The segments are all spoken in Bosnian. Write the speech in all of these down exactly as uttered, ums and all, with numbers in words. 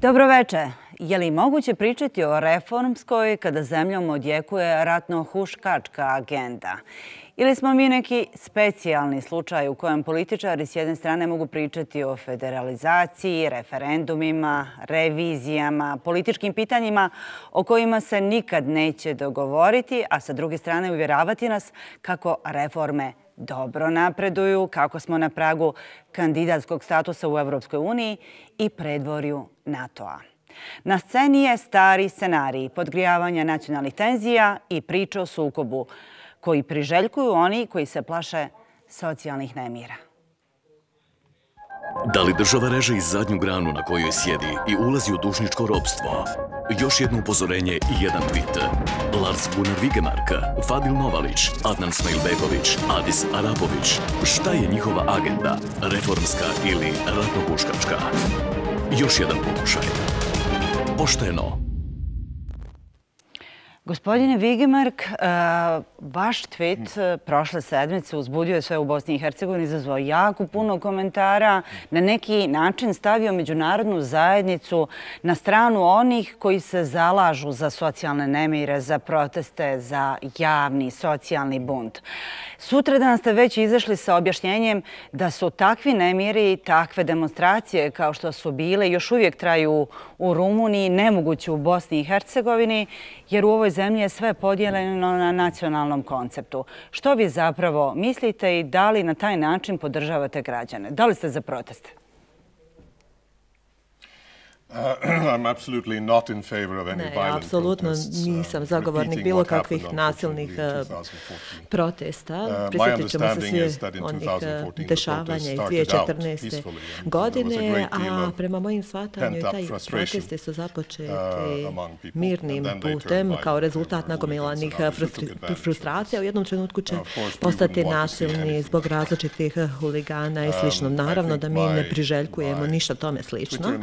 Dobro veče. Je li moguće pričati o reformskoj kada zemljom odjekuje ratno-huškačka agenda? Ili smo mi neki specijalni slučaj u kojem političari s jedne strane mogu pričati o federalizaciji, referendumima, revizijama, političkim pitanjima o kojima se nikad neće dogovoriti, a sa druge strane uvjeravati nas kako reforme dobro napreduju, kako smo na pragu kandidatskog statusa u Evropskoj uniji i predvorju NATO-a. Na sceni je stari scenarij podgrijavanja nacionalnih tenzija i priče o sukobu koji priželjkuju oni koji se plaše socijalnih nemira. Da li država reže iz zadnju granu na kojoj sjedi i ulazi u dužničko ropstvo? Još jedno upozorenje i jedan tweet. Lars Gunnar Vigemark, Fadil Novalić, Adnan Smejlbegović, Adis Arapović. Šta je njihova agenda? Reformska ili ratno-huškačka? Još jedan pokušaj. Pošteno. Gospodine Vigemark, vaš tweet prošle sedmice uzbudio je sve u Bosni i Hercegovini, izazvao jako puno komentara, na neki način stavio međunarodnu zajednicu na stranu onih koji se zalažu za socijalne nemire, za proteste, za javni socijalni bunt. Sutradan ste već izašli sa objašnjenjem da su takvi nemiri i takve demonstracije kao što su bile još uvijek traju u Rumuniji, nemoguće u Bosni i Hercegovini, jer u ovoj zemlji je sve podijeljeno na nacionalnom konceptu. Što vi zapravo mislite i da li na taj način podržavate građane? Da li ste za proteste? Ne, apsolutno nisam zagovornik bilo kakvih nasilnih protesta. Prisjetit ćemo se svi onih dešavanja iz dvije tisuće četrnaeste. godine, a prema mojim shvatanju taj protesti su započeti mirnim putem kao rezultat nagomilanih frustracija. U jednom trenutku će postati nasilni zbog različitih huligana i slično. Naravno da mi ne priželjkujemo ništa tome slično.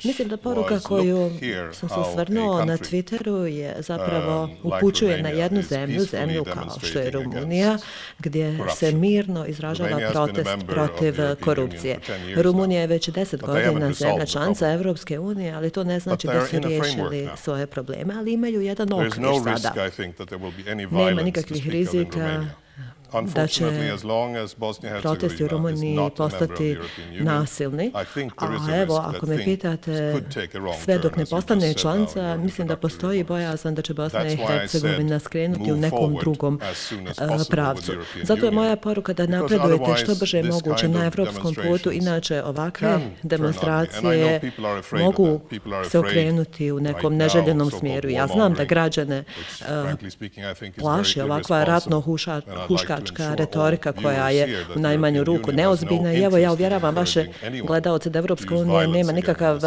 Mislim da poruka koju sam se osvrnuo na Twitteru je zapravo upućuje na jednu zemlju, zemlju kao što je Rumunija, gdje se mirno izražava protest protiv korupcije. Rumunija je već deset godina zemlja članica Evropske unije, ali to ne znači da su riješili svoje probleme, ali imaju jedan okvir sada. Nema nikakvih rizika da će protesti u Rumuniji postati nasilni. A evo, ako me pitate, sve dok ne postane članica, mislim da postoji bojazan da će Bosna i Hercegovina skrenuti u nekom drugom pravcu. Zato je moja poruka da napredujete što brže moguće na evropskom putu, inače ovakve demonstracije mogu se okrenuti u nekom neželjenom smjeru. Ja znam da građane plaši ovakva ratno-huška retorika koja je u najmanju ruku neozbiljna i evo ja uvjeravam vaše gledalce da Evropska unija nema nikakav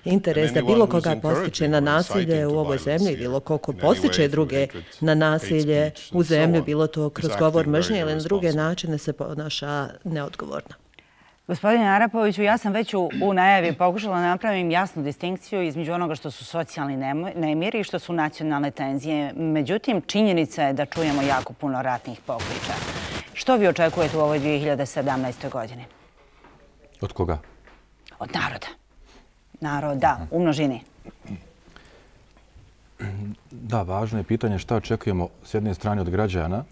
interes da bilo koga postiče na nasilje u ovoj zemlji, bilo koliko postiče druge na nasilje u zemlju, bilo to kroz govor mržnje ili na druge načine se ponaša neodgovorno. Gospodine Arapoviću, ja sam već u najavi pokušala napravim jasnu distinkciju između onoga što su socijalni nemiri i što su nacionalne tenzije. Međutim, činjenica je da čujemo jako puno ratnih pokliča. Što vi očekujete u ovoj dvije hiljade sedamnaestoj. godini? Od koga? Od naroda. Naroda, u množini. Da, važno je pitanje šta očekujemo s jedne strane od građana,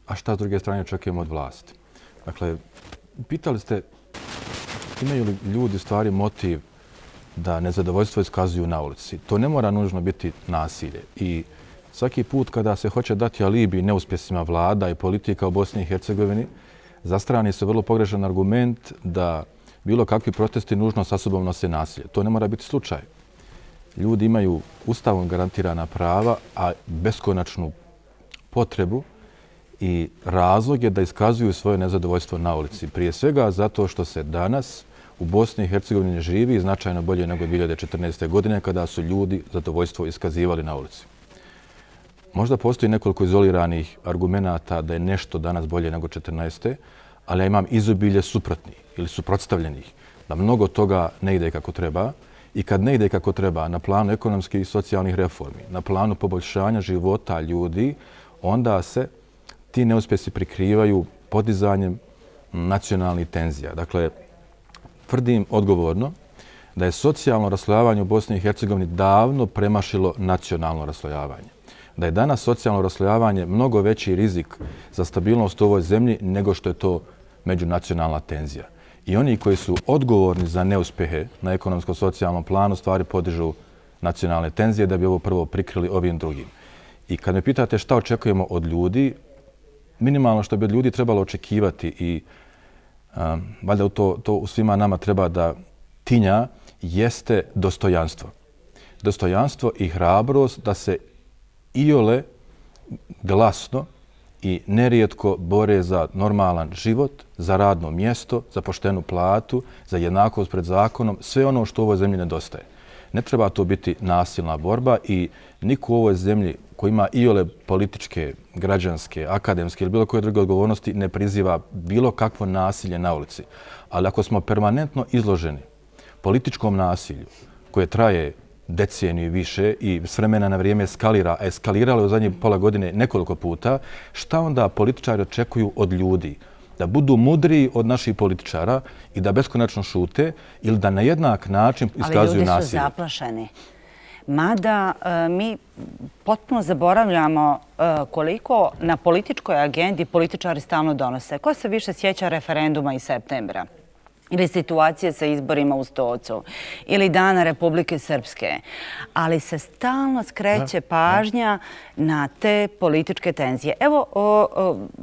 a šta s druge strane očekujemo od vlasti. Dakle, pitali ste imaju li ljudi stvari motiv da nezadovoljstvo iskazuju na ulici. To ne mora nužno biti nasilje. I svaki put kada se hoće dati alibi neuspjesima vlada i politika u Bosni i Hercegovini, zastrani se vrlo pogrešan argument da bilo kakvi protesti nužno sa sobom nose nasilje. To ne mora biti slučaj. Ljudi imaju ustavom garantirana prava, a beskonačnu potrebu i razlog je da iskazuju svoje nezadovoljstvo na ulici. Prije svega zato što se danas u Bosni i Hercegovini živi značajno bolje nego dvije hiljade četrnaeste. godine kada su ljudi zadovoljstvo iskazivali na ulici. Možda postoji nekoliko izoliranih argumenata da je nešto danas bolje nego četrnaeste. ali ja imam izobilje suprotnih ili suprotstavljenih. da mnogo toga ne ide kako treba i kad ne ide kako treba na planu ekonomskih i socijalnih reformi, na planu poboljšanja života ljudi, onda se ti neuspjesi prikrivaju podizanjem nacionalnih tenzija. Dakle, tvrdim odgovorno da je socijalno raslojavanje u Bosni i Hercegovini davno premašilo nacionalno raslojavanje. Da je danas socijalno raslojavanje mnogo veći rizik za stabilnost u ovoj zemlji nego što je to međunacionalna tenzija. I oni koji su odgovorni za neuspjehe na ekonomsko-socijalnom planu stvari podižu nacionalne tenzije da bi ovo prvo prikrili ovim drugim. I kad me pitate šta očekujemo od ljudi, minimalno što bi od ljudi trebalo očekivati i um, valjda to, to u svima nama treba da tinja, jeste dostojanstvo. Dostojanstvo i hrabrost da se iole glasno i nerijetko bore za normalan život, za radno mjesto, za poštenu platu, za jednakost pred zakonom, sve ono što u ovoj zemlji nedostaje. Ne treba to biti nasilna borba i niko u ovoj zemlji koji ima iole političke, građanske, akademske ili bilo koje druge odgovornosti ne priziva bilo kakvo nasilje na ulici. Ali ako smo permanentno izloženi političkom nasilju koje traje deceniju i više i s vremena na vrijeme eskalira, a eskaliralo je u zadnjih pola godine nekoliko puta, šta onda političari očekuju od ljudi? Da budu mudriji od naših političara i da beskonačno šute ili da na jednak način iskazuju nasilje? Ali ljudi su zaplašeni. Mada mi potpuno zaboravljamo koliko na političkoj agendi političari stalno donose. Ko se više sjeća referenduma iz septembra? Ili situacije sa izborima u Stocu, ili Dana Republike Srpske. Ali se stalno skreće pažnja na te političke tenzije. Evo, o,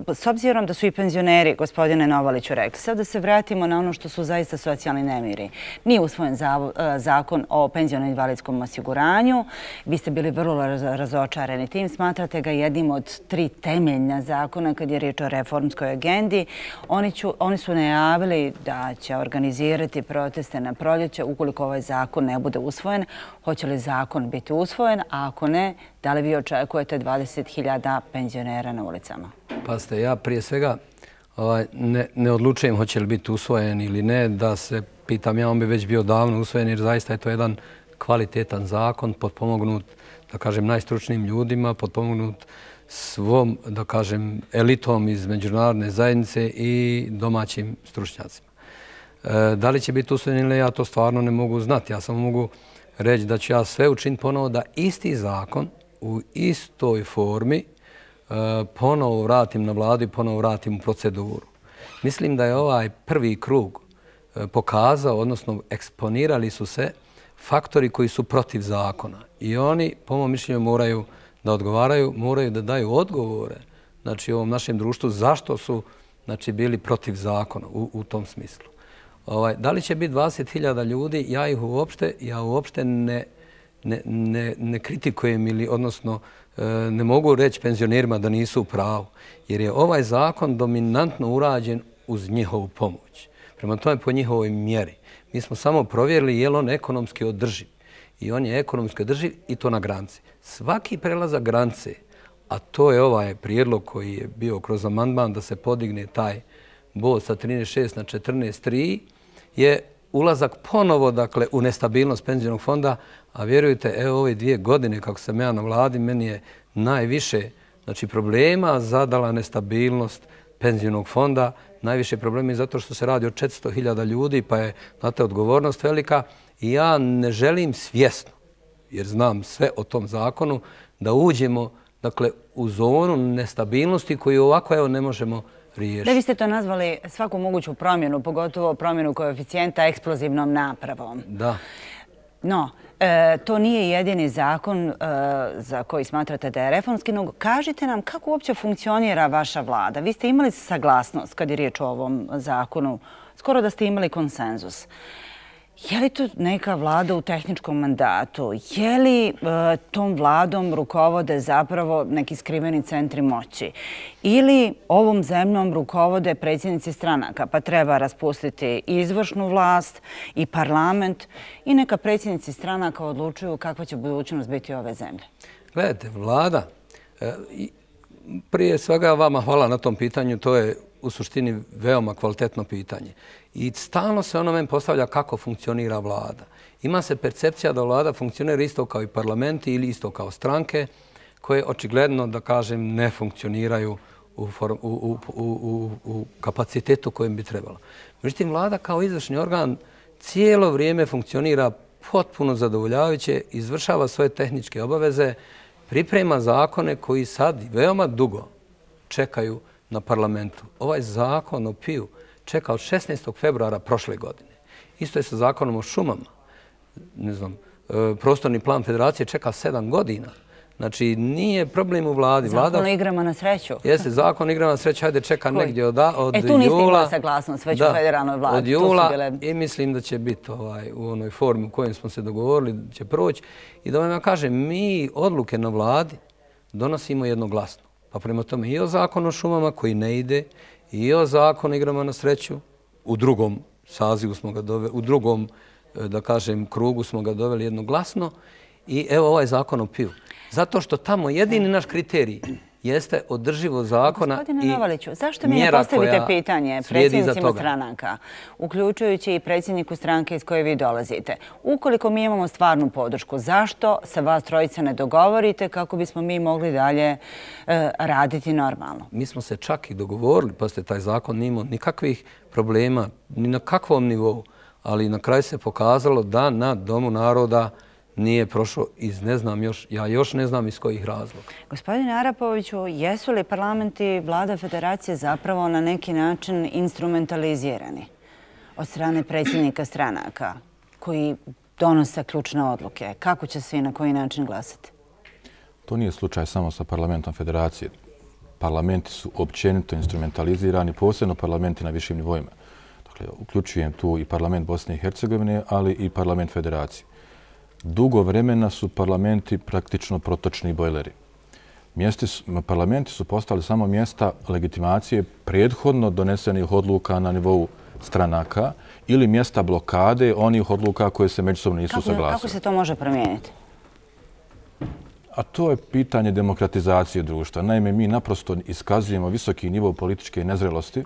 o, s obzirom da su i penzioneri, gospodine Novaliću, rekli, sad da se vratimo na ono što su zaista socijalni nemiri. Nije usvojen za, zakon o penziono-invalidskom osiguranju. Vi ste bili vrlo razočareni tim. Smatrate ga jednim od tri temeljna zakona kad je riječ o reformskoj agendi. Oni, ću, oni su najavili da će organizirati proteste na proljeće ukoliko ovaj zakon ne bude usvojen. Hoće li zakon biti usvojen, a ako ne, da li vi očekujete dvadeset hiljada penzionera na ulicama? Pa ste, ja prije svega ovaj, ne, ne odlučujem hoće li biti usvojen ili ne, da se pitam, ja on bi već bio davno usvojen jer zaista je to jedan kvalitetan zakon, potpomognut, da kažem, najstručnijim ljudima, potpomognut svom, da kažem, elitom iz međunarodne zajednice i domaćim stručnjacima. Da li će biti usvojen ili ne, ja to stvarno ne mogu znati. Ja samo mogu reći da ću ja sve učiniti ponovo da isti zakon u istoj formi ponovo vratim na vladu i ponovo vratim u proceduru. Mislim da je ovaj prvi krug pokazao, odnosno eksponirali su se faktori koji su protiv zakona. I oni, po mom mišljenju, moraju da odgovaraju, moraju da daju odgovore znači, ovom našem društvu zašto su znači, bili protiv zakona u, u tom smislu. Ovaj, da li će biti dvadeset hiljada ljudi, ja ih uopšte, ja uopšte ne, ne, ne, ne kritikujem ili odnosno ne mogu reći penzionerima da nisu u pravu, jer je ovaj zakon dominantno urađen uz njihovu pomoć. Prema tome po njihovoj mjeri. Mi smo samo provjerili je li on ekonomski održiv. I on je ekonomski održiv i to na granici. Svaki prelazak granice, a to je ovaj prijedlog koji je bio kroz amandman da se podigne taj bod sa trinaest šest na četrnaest tri, je ulazak ponovo dakle, u nestabilnost penzionog fonda, a vjerujte, evo ove dvije godine kako sam ja na vladi, meni je najviše znači, problema zadala nestabilnost penzionog fonda, najviše problema je zato što se radi o četiristo hiljada ljudi, pa je znate, odgovornost velika i ja ne želim svjesno, jer znam sve o tom zakonu, da uđemo dakle, u zonu nestabilnosti koju ovako evo, ne možemo riješiti. Da vi ste to nazvali svaku moguću promjenu, pogotovo promjenu koeficijenta eksplozivnom napravom. Da. No, e, to nije jedini zakon e, za koji smatrate da je reformski, no kažite nam kako uopće funkcionira vaša vlada. Vi ste imali saglasnost kad je riječ o ovom zakonu, skoro da ste imali konsenzus. Je li to neka vlada u tehničkom mandatu? Je li e, tom vladom rukovode zapravo neki skriveni centri moći? Ili ovom zemljom rukovode predsjednici stranaka, pa treba raspustiti i izvršnu vlast i parlament i neka predsjednici stranaka odlučuju kakva će budućnost biti ove zemlje? Gledajte, vlada, e, prije svega vama hvala na tom pitanju, to je u suštini veoma kvalitetno pitanje. I stalno se ono meni postavlja kako funkcionira vlada. Ima se percepcija da vlada funkcionira isto kao i parlamenti ili isto kao stranke koje očigledno, da kažem, ne funkcioniraju u, u, u, u, u kapacitetu kojem bi trebalo. Međutim, vlada kao izvršni organ cijelo vrijeme funkcionira potpuno zadovoljavajuće, izvršava svoje tehničke obaveze, priprema zakone koji sad veoma dugo čekaju na parlamentu. Ovaj zakon o P I U čeka od šesnaestog februara prošle godine. Isto je sa zakonom o šumama. Ne znam, prostorni plan federacije čeka sedam godina. Znači, nije problem u vladi. Zakon o igrama na sreću. Jeste, zakon o igrama na sreću, hajde čeka negdje od jula. E, tu niste imali saglasnost već u federalnoj vladi. Od jula i mislim da će biti u onoj formi u kojoj smo se dogovorili, će proći. I da vam ja kažem, mi odluke na vladi donosimo jednoglasno. Pa prema tome i o zakonu o šumama koji ne ide, i o zakonu o igrama na sreću, u drugom sazivu smo ga doveli, u drugom, da kažem, krugu smo ga doveli jednoglasno. I evo ovaj zakon o P I U. Zato što tamo jedini naš kriterij jeste održivo zakona i Gospodine Novaliću, zašto mi ne postavite pitanje predsjednicima stranaka, uključujući i predsjedniku stranke iz koje vi dolazite? Ukoliko mi imamo stvarnu podršku, zašto se vas trojica ne dogovorite kako bismo mi mogli dalje raditi normalno? Mi smo se čak i dogovorili, pa ste taj zakon nije imao nikakvih problema, ni na kakvom nivou, ali na kraju se pokazalo da na Domu naroda nije prošao iz ne znam još, ja još ne znam iz kojih razloga. Gospodine Arapoviću, jesu li parlamenti vlada federacije zapravo na neki način instrumentalizirani od strane predsjednika stranaka koji donose ključne odluke? Kako će se i na koji način glasati? To nije slučaj samo sa parlamentom federacije. Parlamenti su općenito instrumentalizirani, posebno parlamenti na višim nivoima. Dakle, uključujem tu i parlament Bosne i Hercegovine, ali i parlament federacije. Dugo vremena su parlamenti praktično protočni bojleri. Parlamenti su postali samo mjesta legitimacije prethodno donesenih odluka na nivou stranaka ili mjesta blokade onih odluka koje se međusobno nisu saglasile. Kako se to može promijeniti? A to je pitanje demokratizacije društva. Naime, mi naprosto iskazujemo visoki nivo političke nezrelosti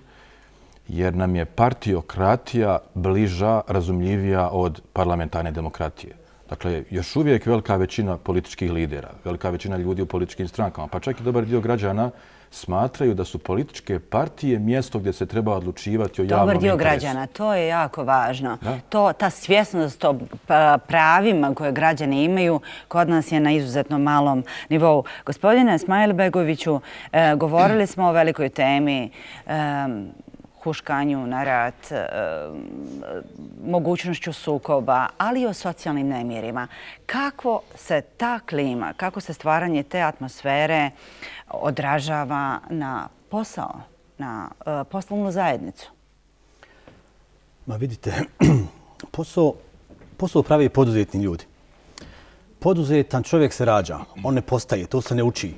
jer nam je partiokratija bliža, razumljivija od parlamentarne demokratije. Dakle, još uvijek velika većina političkih lidera, velika većina ljudi u političkim strankama, pa čak i dobar dio građana smatraju da su političke partije mjesto gdje se treba odlučivati o javnom interesu. Dobar dio građana, to je jako važno. To, ta svjesnost o pravima koje građani imaju kod nas je na izuzetno malom nivou. Gospodine Smajlbegoviću, govorili smo o velikoj temi huškanju na rat, mogućnošću sukoba, ali i o socijalnim nemirima. Kako se ta klima, kako se stvaranje te atmosfere odražava na posao, na poslovnu zajednicu? Ma vidite, posao, posao pravi poduzetni ljudi. Poduzetan čovjek se rađa, on ne postaje, to se ne uči.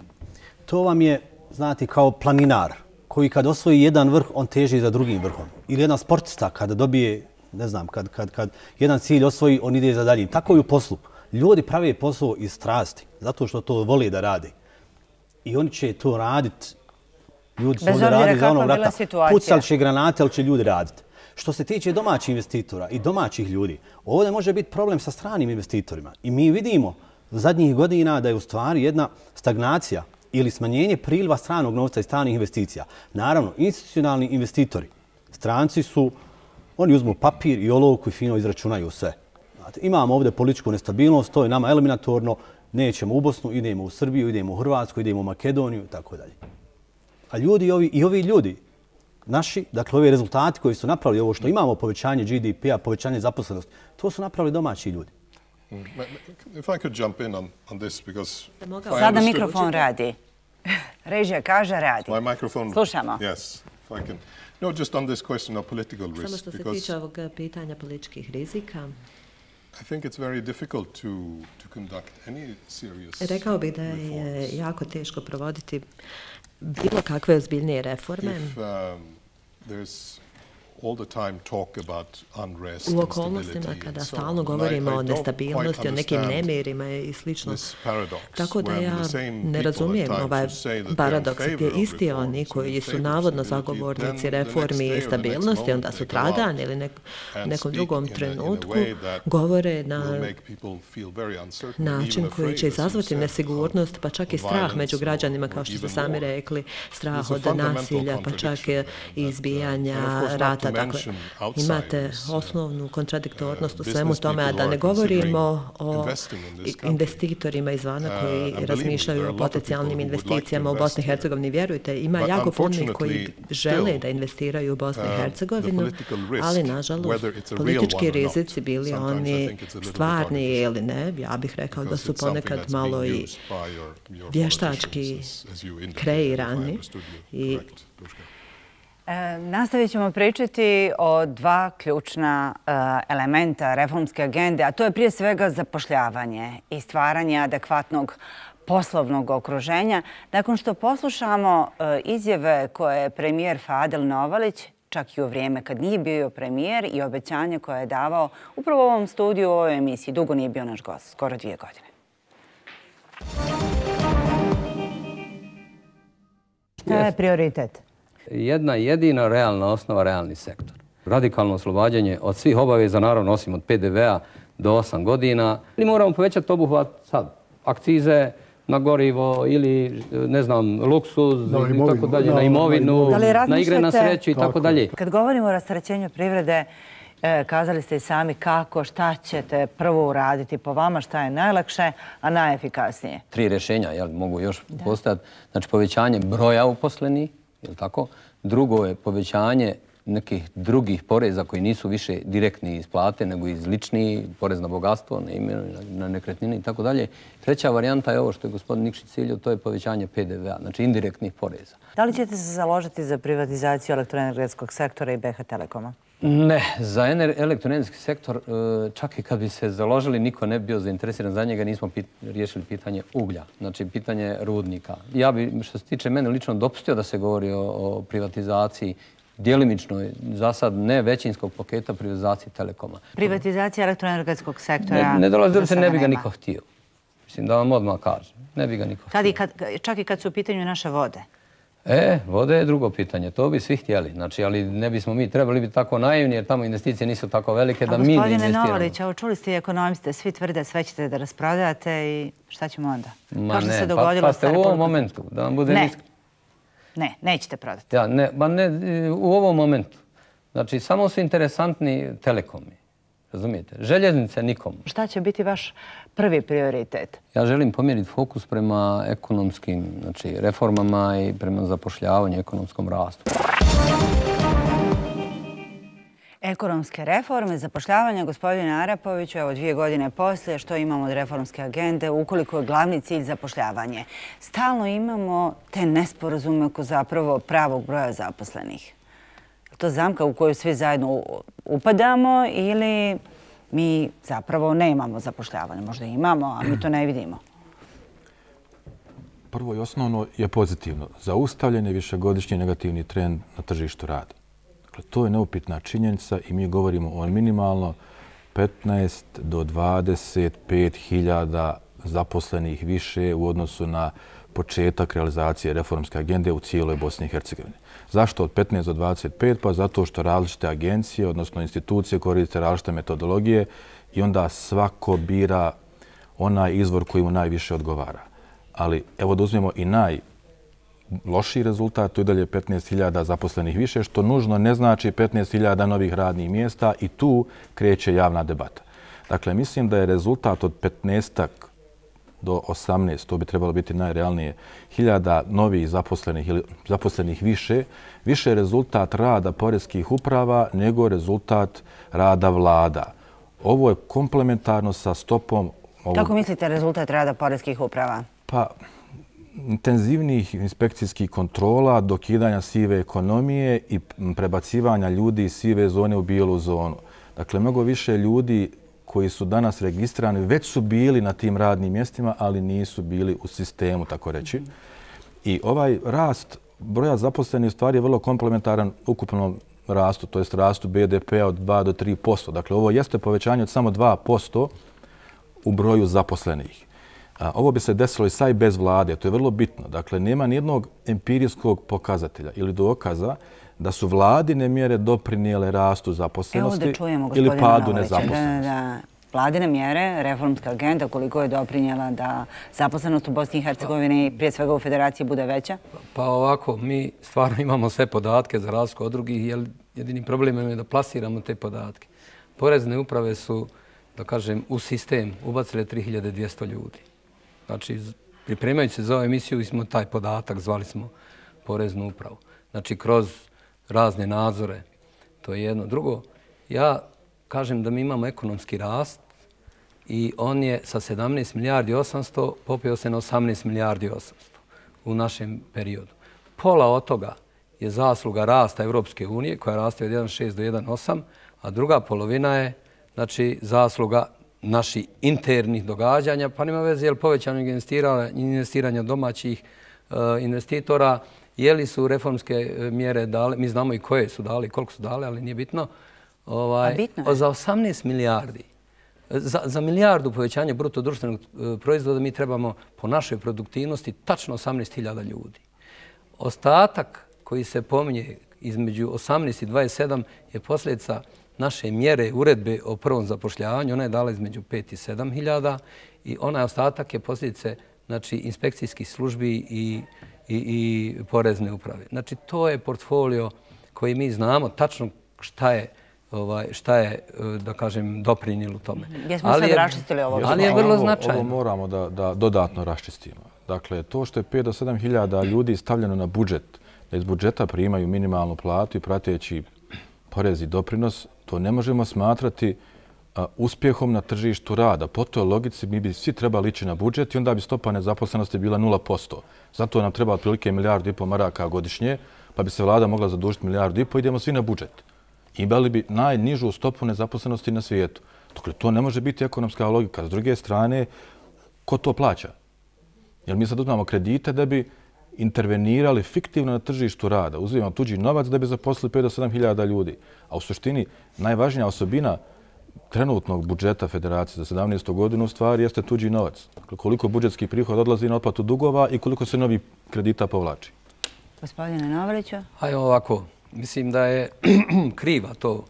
To vam je, znate, kao planinar koji kad osvoji jedan vrh, on teži za drugim vrhom. Ili jedan sportista kada dobije, ne znam, kad, kad, kad jedan cilj osvoji, on ide za daljim. Tako i u poslu. Ljudi prave posao iz strasti, zato što to vole da rade. I oni će to raditi. Ljudi su ovdje radili za onog rata. Pucali će granate, ali će ljudi raditi. Što se tiče domaćih investitora i domaćih ljudi, ovdje može biti problem sa stranim investitorima. I mi vidimo zadnjih godina da je u stvari jedna stagnacija ili smanjenje priliva stranog novca i stranih investicija. Naravno, institucionalni investitori, stranci su, oni uzmu papir i olovku i fino izračunaju sve. Znate, imamo ovdje političku nestabilnost, to je nama eliminatorno, nećemo u Bosnu, idemo u Srbiju, idemo u Hrvatsku, idemo u Makedoniju i tako dalje. A ljudi ovi, i ovi ljudi, naši, dakle ovi rezultati koji su napravili, ovo što imamo povećanje G D P-a, povećanje zaposlenosti, to su napravili domaći ljudi. If I could jump in on, on this, because Sada mikrofon radi. Režija kaže radi. My microphone. Slušamo. Yes, if I can. No, just on this question of political risk. Samo što se tiče ovog pitanja političkih rizika. I think it's very difficult to to conduct any serious. Rekao bih da je jako teško provoditi bilo kakve ozbiljnije reforme. If um, there's U okolnostima kada stalno govorimo o nestabilnosti, o nekim nemirima i slično. Tako da ja ne razumijem ovaj paradoks gdje isti oni koji su navodno zagovornici reformi i stabilnosti, onda su tradan ili nek, nekom drugom trenutku govore na način koji će izazvati nesigurnost, pa čak i strah među građanima, kao što ste sami rekli, strah od nasilja, pa čak i izbijanja rata. Dakle, imate osnovnu kontradiktornost u svemu tome, a da ne govorimo o investitorima izvana koji razmišljaju o potencijalnim investicijama u Bosni i Hercegovini. Vjerujte, ima jako puno koji žele da investiraju u Bosni i Hercegovinu, ali nažalost politički rizici, bili oni stvarni ili ne, ja bih rekao da su ponekad malo i vještački kreirani. I E, nastavit ćemo pričati o dva ključna e, elementa reformske agende, a to je prije svega zapošljavanje i stvaranje adekvatnog poslovnog okruženja. Nakon što poslušamo e, izjave koje je premijer Fadil Novalić, čak i u vrijeme kad nije bio premijer, i obećanje koje je davao upravo u ovom studiju, u ovoj emisiji. Dugo nije bio naš gost, skoro dvije godine. Šta je prioritet? Jedna jedina realna osnova, realni sektor. Radikalno oslobađanje od svih obaveza, naravno osim od P D V-a do osam godina. Ili moramo povećati obuhvat sad, akcize na gorivo ili, ne znam, luksuz, i tako dalje, na imovinu, na igre na sreću i tako dalje. Kad govorimo o rasterećenju privrede, kazali ste i sami kako, šta ćete prvo uraditi po vama, šta je najlakše, a najefikasnije. Tri rješenja, jel, mogu još postojati. Znači, povećanje broja uposlenih, jel tako? Drugo je povećanje nekih drugih poreza koji nisu više direktni iz plate, nego iz lični, porez na bogatstvo, na ime, na nekretnine i tako dalje. Treća varijanta je ovo što je gospodin Nikšić ciljio, to je povećanje P D V-a, znači indirektnih poreza. Da li ćete se založiti za privatizaciju elektroenergetskog sektora i B H Telekoma? Ne, za elektroenergetski sektor, čak i kad bi se založili, niko ne bi bio zainteresiran za njega, nismo riješili pitanje uglja, znači pitanje rudnika. Ja bi, što se tiče mene, lično dopustio da se govori o privatizaciji, djelimično, za sad ne većinskog paketa, privatizaciji Telekoma. Privatizacija elektroenergetskog sektora? Ne, ne dolazi da se ne bi ga niko htio. Mislim da vam odmah kažem, ne bi ga niko htio. Čak i kad su u pitanju naše vode? E, vode je drugo pitanje. To bi svi htjeli. Znači, ali ne bismo mi trebali biti tako naivni jer tamo investicije nisu tako velike da mi ne investiramo. A gospodine Novalić, evo čuli ste i ekonomiste, svi tvrde sve ćete da rasprodajate i šta ćemo onda? Ma ne, pa ste u ovom momentu, da vam bude ne. Ne, nećete prodati. Ja, ne, ba ne, u ovom momentu. Znači, samo su interesantni telekomi. Razumijete? Željeznice nikom. Šta će biti vaš prvi prioritet? Ja želim pomjeriti fokus prema ekonomskim, znači, reformama i prema zapošljavanju, ekonomskom rastu. Ekonomske reforme, zapošljavanje, gospodine Arapoviću, evo dvije godine poslije, što imamo od reformske agende, ukoliko je glavni cilj zapošljavanje. Stalno imamo te nesporazume oko zapravo pravog broja zaposlenih. Je to zamka u koju svi zajedno upadamo ili mi zapravo ne imamo zapošljavanje? Možda imamo, a mi to ne vidimo. Prvo i osnovno je pozitivno. Zaustavljen je višegodišnji negativni trend na tržištu rada. Dakle, to je neupitna činjenica i mi govorimo o minimalno petnaest do dvadeset pet hiljada zaposlenih više u odnosu na početak realizacije reformske agende u cijeloj Bosni i Hercegovini. Zašto od petnaest do dvadeset pet? Pa zato što različite agencije, odnosno institucije, koriste različite metodologije i onda svako bira onaj izvor koji mu najviše odgovara. Ali evo da uzmemo i najlošiji rezultat, to je dalje petnaest hiljada zaposlenih više, što nužno ne znači petnaest hiljada novih radnih mjesta i tu kreće javna debata. Dakle, mislim da je rezultat od petnaestak do osamnaest, to bi trebalo biti najrealnije, hiljada novih zaposlenih ili zaposlenih više, više rezultat rada poreskih uprava nego rezultat rada vlada. Ovo je komplementarno sa stopom... Ovog... Kako mislite rezultat rada poreskih uprava? Pa, intenzivnih inspekcijskih kontrola, dokidanja sive ekonomije i prebacivanja ljudi iz sive zone u bijelu zonu. Dakle, mnogo više ljudi koji su danas registrirani, već su bili na tim radnim mjestima, ali nisu bili u sistemu, tako reći. I ovaj rast broja zaposlenih stvari je vrlo komplementaran ukupnom rastu, to jest rastu B D P-a od dva do tri posto. Dakle, ovo jeste povećanje od samo dva posto u broju zaposlenih. Ovo bi se desilo i sa i bez vlade, to je vrlo bitno. Dakle, nema nijednog empirijskog pokazatelja ili dokaza da su vladine mjere doprinijele rastu zaposlenosti ili padu nezaposlenosti. Vladine mjere, reformska agenda, koliko je doprinjela da zaposlenost u Bosni i Hercegovini, prije svega u Federaciji, bude veća? Pa ovako, mi stvarno imamo sve podatke za razliku od drugih, jer jedini problem je da plasiramo te podatke. Porezne uprave su, da kažem, u sistem ubacile tri hiljade dvjesto ljudi. Znači, pripremajući se za ovu emisiju, smo taj podatak, zvali smo poreznu upravu. Znači, kroz razne nadzore, to je jedno. Drugo, ja kažem da mi imamo ekonomski rast i on je sa sedamnaest milijardi osamsto popeo se na osamnaest milijardi osamsto u našem periodu. Pola od toga je zasluga rasta Evropske unije, koja raste od jedan zarez šest do jedan zarez osam, a druga polovina je znači, zasluga naših internih događanja, pa nema veze je li povećano investiranja domaćih uh, investitora, je li su reformske mjere dale, mi znamo i koje su dali, koliko su dale, ali nije bitno. Ovaj, bitno za osamnaest milijardi, za, za milijardu povećanja bruto društvenog proizvoda mi trebamo po našoj produktivnosti tačno osamnaest hiljada ljudi. Ostatak koji se pominje između osamnaest i dvadeset sedam je posljedica naše mjere uredbe o prvom zapošljavanju. Ona je dala između pet i sedam hiljada i onaj ostatak je posljedice znači, inspekcijskih službi i, i, i porezne uprave. Znači, to je portfolio koji mi znamo tačno šta je Ovaj, šta je, da kažem, doprinijelo tome. Jesmo sad raščistili ovo? Ali je vrlo značajno. Ovo moramo da, da dodatno raščistimo. Dakle, to što je pet do sedam hiljada ljudi stavljeno na budžet, da iz budžeta primaju minimalnu platu i prateći porez i doprinos, to ne možemo smatrati a, uspjehom na tržištu rada. Po toj logici mi bi svi trebali ići na budžet i onda bi stopa nezaposlenosti bila nula posto. Zato nam treba otprilike milijardu i pol maraka godišnje, pa bi se vlada mogla zadužiti milijardu i pol, idemo svi na budžet. Imali bi najnižu stopu nezaposlenosti na svijetu. Dakle, to ne može biti ekonomska logika. S druge strane, ko to plaća? Jer mi sad uzmamo kredite da bi intervenirali fiktivno na tržištu rada. Uzimamo tuđi novac da bi zaposlili pet do sedam hiljada ljudi. A u suštini, najvažnija osobina trenutnog budžeta Federacije za sedamnaestu godinu u stvari jeste tuđi novac. Dakle, koliko budžetski prihod odlazi na otplatu dugova i koliko se novi kredita povlači. Gospodine Novaliću. Hajde ovako. Mislim da je kriva to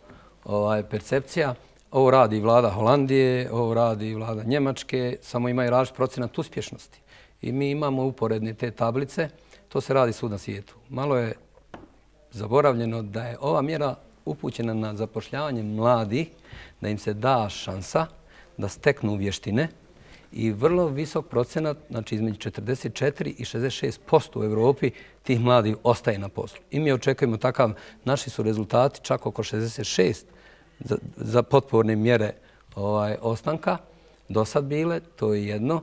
ovaj, percepcija. Ovo radi vlada Holandije, ovo radi vlada Njemačke, samo imaju različit procenat uspješnosti. I mi imamo uporedne te tablice, to se radi svud na svijetu. Malo je zaboravljeno da je ova mjera upućena na zapošljavanje mladih, da im se da šansa da steknu vještine i vrlo visok procenat, znači između četrdeset četiri i šezdeset šest posto u Evropi tih mladih ostaje na poslu. I mi očekujemo takav, naši su rezultati čak oko šezdeset šest za, za potporne mjere ovaj, ostanka do sad bile, to je jedno.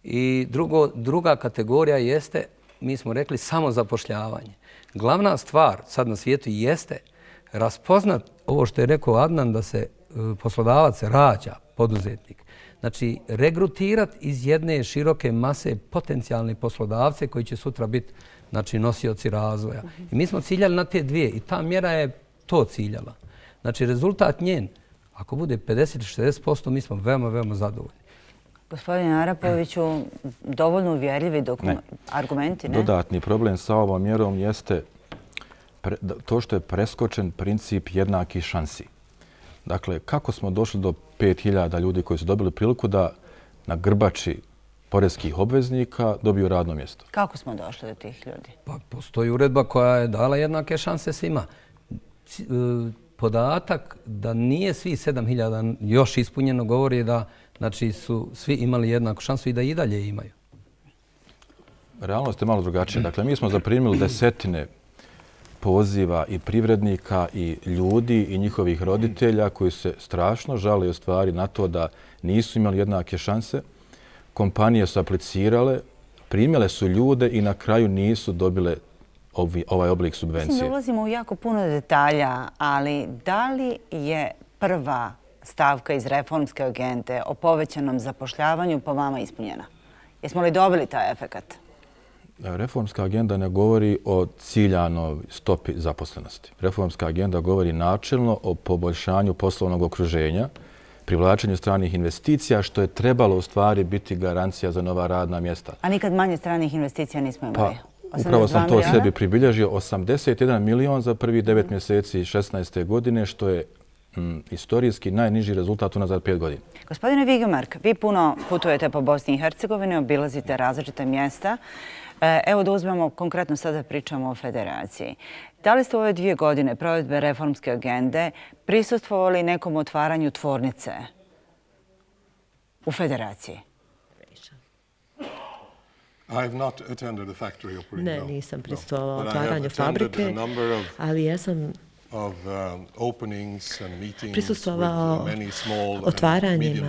I drugo, druga kategorija jeste, mi smo rekli, samo zapošljavanje. Glavna stvar sad na svijetu jeste raspoznat ovo što je rekao Adnan, da se poslodavac rađa, poduzetnik. Znači, regrutirati iz jedne široke mase potencijalne poslodavce koji će sutra biti znači, nosioci razvoja. I mi smo ciljali na te dvije i ta mjera je to ciljala. Znači, rezultat njen, ako bude pedeset do šezdeset posto, mi smo veoma, veoma zadovoljni. Gospodine Arapoviću, dovoljno uvjerljivi argumenti, ne? Dodatni problem sa ovom mjerom jeste pre, to što je preskočen princip jednakih šansi. Dakle, kako smo došli do pet hiljada ljudi koji su dobili priliku da na grbači porezkih obveznika dobiju radno mjesto? Kako smo došli do tih ljudi? Pa postoji uredba koja je dala jednake šanse svima. Podatak da nije svi sedam hiljada još ispunjeno govori da znači, su svi imali jednaku šansu i da i dalje imaju. Realnost je malo drugačija. Dakle, mi smo zaprimili desetine poziva i privrednika i ljudi i njihovih roditelja koji se strašno žale u stvari na to da nisu imali jednake šanse. Kompanije su aplicirale, primjele su ljude i na kraju nisu dobile ovi, ovaj oblik subvencije. Mislim da ulazimo u jako puno detalja, ali da li je prva stavka iz reformske agende o povećanom zapošljavanju po vama ispunjena? Jesmo li dobili taj efekat? reformska agenda ne govori o ciljanoj stopi zaposlenosti. Reformska agenda govori načelno o poboljšanju poslovnog okruženja, privlačenju stranih investicija, što je trebalo u stvari biti garancija za nova radna mjesta. A nikad manje stranih investicija nismo imali? Pa, upravo sam to sebi pribilježio. osamdeset jedan milion za prvi devet mjeseci šesnaeste godine, što je mm, istorijski najniži rezultat unazad pet godina. Gospodine Vigemark, vi puno putujete po Bosni i Hercegovini, obilazite različite mjesta. Evo da uzmemo, konkretno sada pričamo o federaciji. Da li ste u ove dvije godine provedbe reformske agende prisustvovali nekom otvaranju tvornice u federaciji? Ne, nisam prisustvovao otvaranju fabrike, ali jesam prisustvovao otvaranjima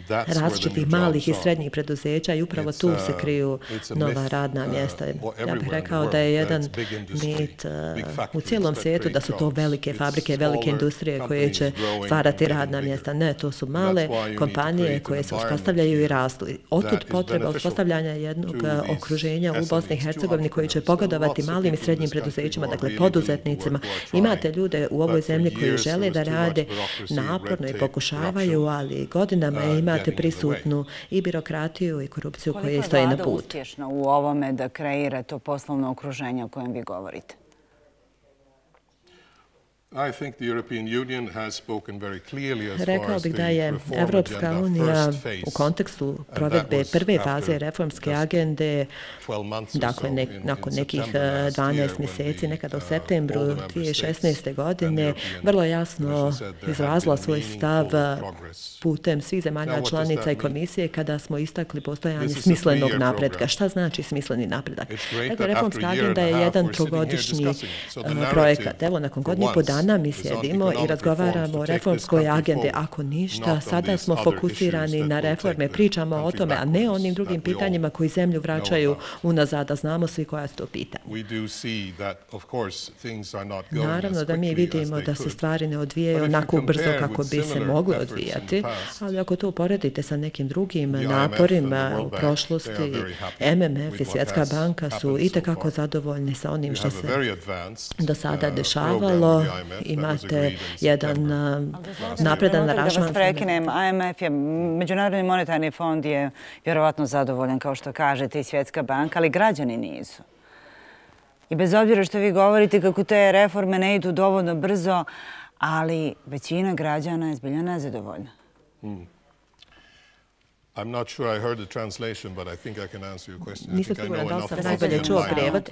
različitih malih i srednjih preduzeća i upravo tu se kriju nova radna mjesta. Ja bih rekao da je jedan mit u cijelom svijetu da su to velike fabrike, velike industrije koje će stvarati radna mjesta. Ne, to su male kompanije koje se uspostavljaju i rastu. Otud potreba uspostavljanja jednog okruženja u Bosni i Hercegovini koji će pogodovati malim i srednjim preduzećima, dakle poduzetnicima. Imate ljude u ovoj zemlji koji žele da rade naporno i pokušavaju, ali godinama je imate prisutnu i birokratiju i korupciju koje stoje na putu. Koliko je vlada uspješna u ovome da kreira to poslovno okruženje o kojem vi govorite? Rekao bih da je Evropska unija u kontekstu provedbe prve faze reformske agende, dakle nakon nekih dvanaest mjeseci, nekada u septembru dvije tisuće šesnaeste. godine, vrlo jasno izrazila svoj stav putem svih zemalja članica i komisije kada smo istakli postojanje smislenog napretka. Šta znači smisleni napredak? Dakle, reformska agenda je jedan trogodišnji projekat. Evo, nakon godinu i po dana mi sjedimo i razgovaramo o reformskoj agende. Ako ništa, sada smo fokusirani na reforme, pričamo o tome, a ne o onim drugim pitanjima koji zemlju vraćaju unazad, a znamo svi koja su to pitanja. Naravno da mi vidimo da se stvari ne odvijaju onako brzo kako bi se mogle odvijati, ali ako to uporedite sa nekim drugim naporima u prošlosti, M M F i Svjetska banka su itekako zadovoljni sa onim što se do sada dešavalo. Imate jedan napredan aranžman. Da vas prekinem, I M F je, Međunarodni monetarni fond je vjerovatno zadovoljan, kao što kažete, i Svjetska banka, ali građani nisu. I bez obzira što vi govorite kako te reforme ne idu dovoljno brzo, ali većina građana je zbilja nezadovoljna. I'm not sure I heard the translation, but I think I can answer your question. Nisam siguran da sam najbolje čuo prijevod.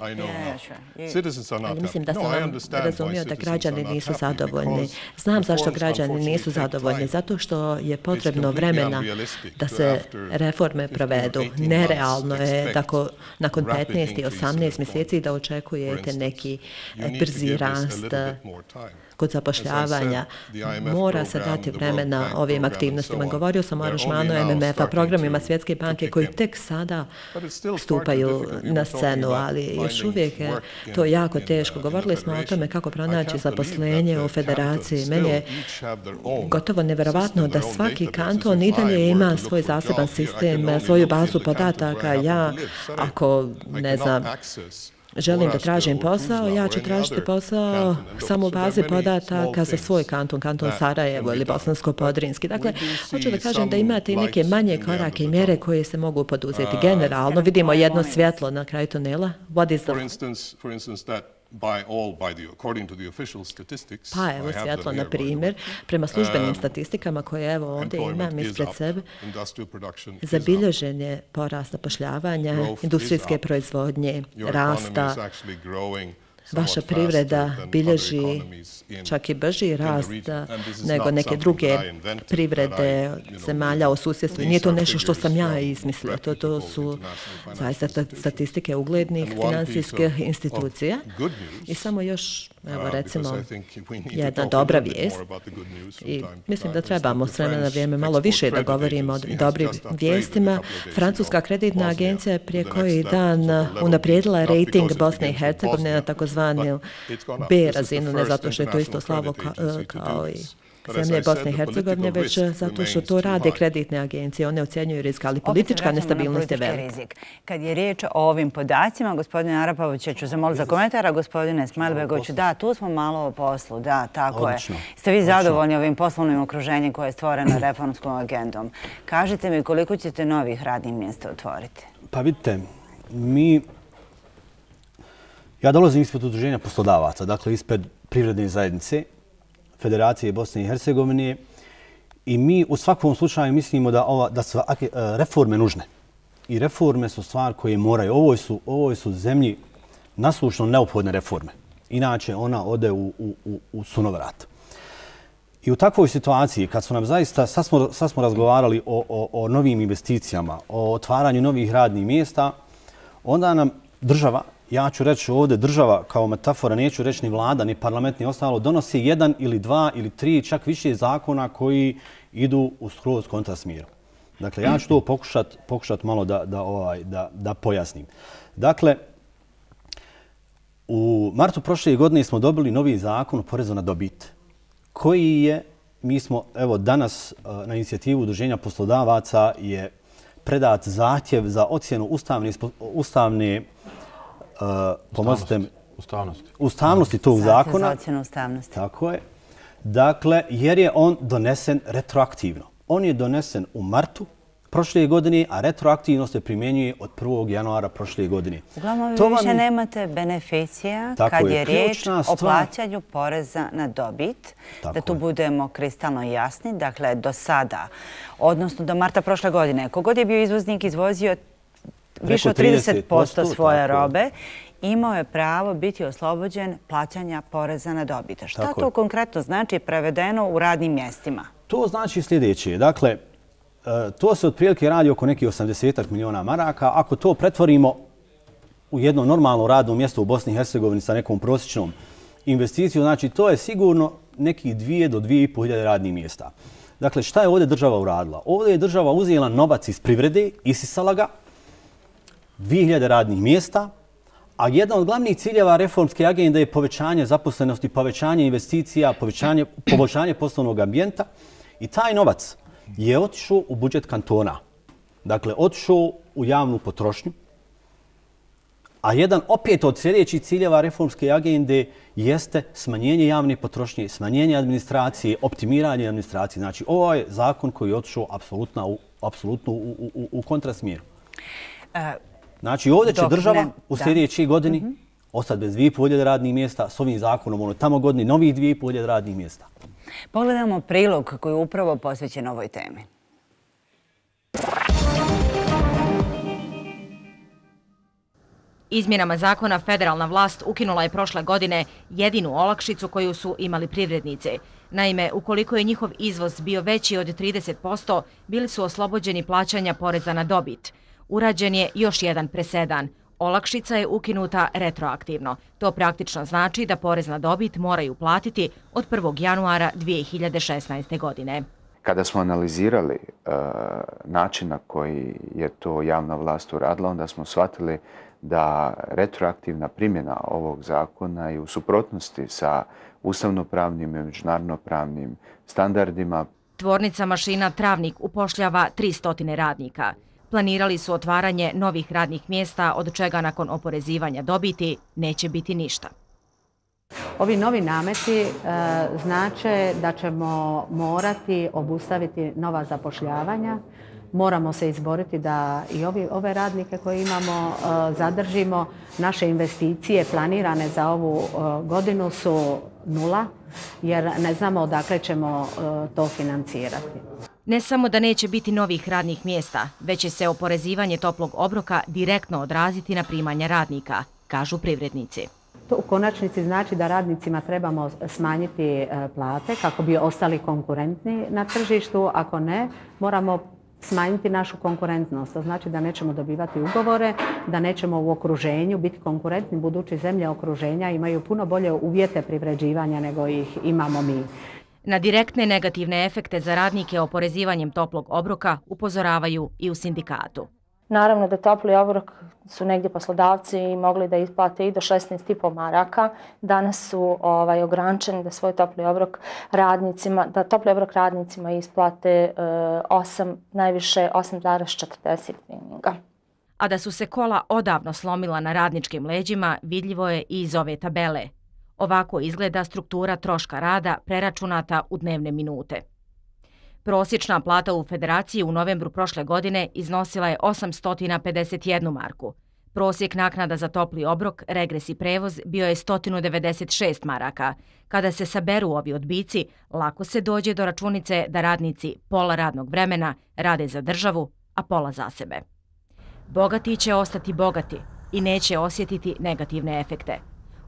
Citizens are not happy. Mislim da sam vam razumio da građani nisu zadovoljni. Znam zašto građani nisu zadovoljni. Zato što je potrebno vremena da se reforme provedu. Nerealno je da nakon petnaest i osamnaest mjeseci da očekujete neki brzi rast kod zapošljavanja. Mora se dati vremena ovim aktivnostima. Govorio sam o aranžmanu M M F-a, programima Svjetske banke koji tek sada stupaju na scenu, ali još uvijek je to jako teško. Govorili smo o tome kako pronaći zaposlenje u federaciji. Meni je gotovo nevjerovatno da svaki kanton i dalje ima svoj zaseban sistem, svoju bazu podataka. Ja, ako ne znam, želim da tražim posao, ja ću tražiti posao samo u bazi podataka za svoj kanton, kanton Sarajevo ili Bosansko-Podrinski. Dakle, hoću da kažem da imate i neke manje korake i mjere koje se mogu poduzeti. Generalno vidimo jedno svjetlo na kraju tunela. What is the... Pa evo svjetlo, na primjer, prema službenim statistikama koje evo ovdje imam ispred sebe, zabilježen je porast zapošljavanja, industrijske proizvodnje, rasta. Vaša privreda bilježi čak i brži rast nego neke druge privrede zemalja u susjedstvu. Nije to nešto što sam ja izmislio. To, to su zaista statistike uglednih finansijskih institucija. I samo još, evo recimo, jedna dobra vijest. I mislim da trebamo s vremena na vrijeme malo više da govorimo o dobrim vijestima. Francuska kreditna agencija je prije koji dan unaprijedila rating Bosne i Hercegovine na takozvanu B razinu, ne zato što je to isto slavo kao i zemlje Bosne i Hercegovine, već zato što to rade kreditne agencije. One ocjenjuju rizik, ali politička nestabilnost je velika. Kad je riječ o ovim podacima, gospodine Arapovića ću zamoliti za komentara, gospodine Smajlbegoviću, da, tu smo malo o poslu, da, tako je. Ste vi zadovoljni ovim poslovnim okruženjem koje je stvoreno reformskom agendom? Kažite mi koliko ćete novih radnih mjesta otvoriti? Pa vidite, mi... Ja dolazim ispred udruženja poslodavaca, dakle ispred privredne zajednice Federacije Bosne i Hercegovine i mi u svakom slučaju mislimo da, ova, da su reforme nužne. I reforme su stvar koje moraju. Ovo su, ovo su zemlji naslušno neophodne reforme. Inače ona ode u, u, u sunovrat. I u takvoj situaciji, kad su nam zaista, sad smo, sad smo razgovarali o, o, o novim investicijama, o otvaranju novih radnih mjesta, onda nam država, ja ću reći ovdje država kao metafora, neću reći ni vlada, ni parlament, ni ostalo, donosi jedan ili dva ili tri, čak više zakona koji idu u skroz kontra smjeru. Dakle, ja ću to pokušati pokušat malo da, da, ovaj, da, da pojasnim. Dakle, u martu prošle godine smo dobili novi zakon o porezu na dobit, koji je, mi smo, evo danas na inicijativu Udruženja poslodavaca je predat zahtjev za ocjenu ustavne, ustavne Uh, pomozite mi, ustavnosti. ustavnosti tog zakona. Za ocjenu ustavnosti. Tako je. Dakle, jer je on donesen retroaktivno. On je donesen u martu prošle godine, a retroaktivno se primjenjuje od prvog januara prošle godine. Uglavnom, vi više nemate beneficija kad je riječ o plaćanju poreza na dobit. Da tu budemo kristalno jasni. Dakle, do sada, odnosno do marta prošle godine, kogod je bio izvoznik izvozio više od trideset posto svoje robe, imao je pravo biti oslobođen plaćanja poreza na dobit. Šta to konkretno znači prevedeno u radnim mjestima? To znači sljedeće. Dakle, to se otprilike radi oko nekih osamdeset miliona maraka. Ako to pretvorimo u jedno normalno radno mjesto u Bosni i Hercegovini sa nekom prosječnom investicijom, znači to je sigurno nekih dvije do dvije i pol hiljade radnih mjesta. Dakle, šta je ovdje država uradila? Ovdje je država uzela novac iz privrede, isisala ga, dvije hiljade radnih mjesta, a jedan od glavnih ciljeva reformske agende je povećanje zaposlenosti, povećanje investicija, povećanje, poboljšanje poslovnog ambijenta i taj novac je otišao u budžet kantona. Dakle, otišao u javnu potrošnju, a jedan opet od sljedećih ciljeva reformske agende jeste smanjenje javne potrošnje, smanjenje administracije, optimiranje administracije. Znači, ovo je zakon koji je otišao apsolutno u, apsolutno u, u, u kontrasmjeru. E, Znači, ovdje će država u sljedećoj godini mm-hmm. ostati bez dvije i pol hiljade radnih mjesta, s ovim zakonom ono tamo godini novih dvije i pol hiljade radnih mjesta. Pogledamo prilog koji je upravo posvećen ovoj temi. Izmjenama zakona federalna vlast ukinula je prošle godine jedinu olakšicu koju su imali privrednice. Naime, ukoliko je njihov izvoz bio veći od trideset posto, bili su oslobođeni plaćanja poreza na dobit. Urađen je još jedan presedan. Olakšica je ukinuta retroaktivno. To praktično znači da porez na dobit moraju platiti od prvog januara dvije hiljade šesnaeste. godine. Kada smo analizirali uh, način na koji je to javna vlast uradila, onda smo shvatili da retroaktivna primjena ovog zakona je u suprotnosti sa ustavnopravnim i međunarodnopravnim standardima. Tvornica mašina Travnik upošljava tristo radnika. Planirali su otvaranje novih radnih mjesta, od čega nakon oporezivanja dobiti neće biti ništa. Ovi novi nameti e, znače da ćemo morati obustaviti nova zapošljavanja. Moramo se izboriti da i ovi, ove radnike koje imamo e, zadržimo. Naše investicije planirane za ovu e, godinu su nula, jer ne znamo odakle ćemo e, to financirati. Ne samo da neće biti novih radnih mjesta, već će se oporezivanje toplog obroka direktno odraziti na primanja radnika, kažu privrednici. To u konačnici znači da radnicima trebamo smanjiti plate kako bi ostali konkurentni na tržištu. Ako ne, moramo smanjiti našu konkurentnost. To znači da nećemo dobivati ugovore, da nećemo u okruženju biti konkurentni, budući zemlje okruženja imaju puno bolje uvjete privređivanja nego ih imamo mi. Na direktne negativne efekte za radnike oporezivanjem toplog obroka upozoravaju i u sindikatu. Naravno da topli obrok su negdje poslodavci mogli da isplate i do šesnaest i po maraka. Danas su ovaj, ograničeni da svoj topli obrok radnicima, da topli obrok radnicima isplate osam, najviše osam zarez četrdeset treninga. A da su se kola odavno slomila na radničkim leđima, vidljivo je i iz ove tabele. Ovako izgleda struktura troška rada preračunata u dnevne minute. Prosječna plata u Federaciji u novembru prošle godine iznosila je osamsto pedeset jednu marku. Prosjek naknada za topli obrok, regres i prevoz bio je sto devedeset šest maraka. Kada se saberu ovi odbici, lako se dođe do računice da radnici pola radnog vremena rade za državu, a pola za sebe. Bogati će ostati bogati i neće osjetiti negativne efekte.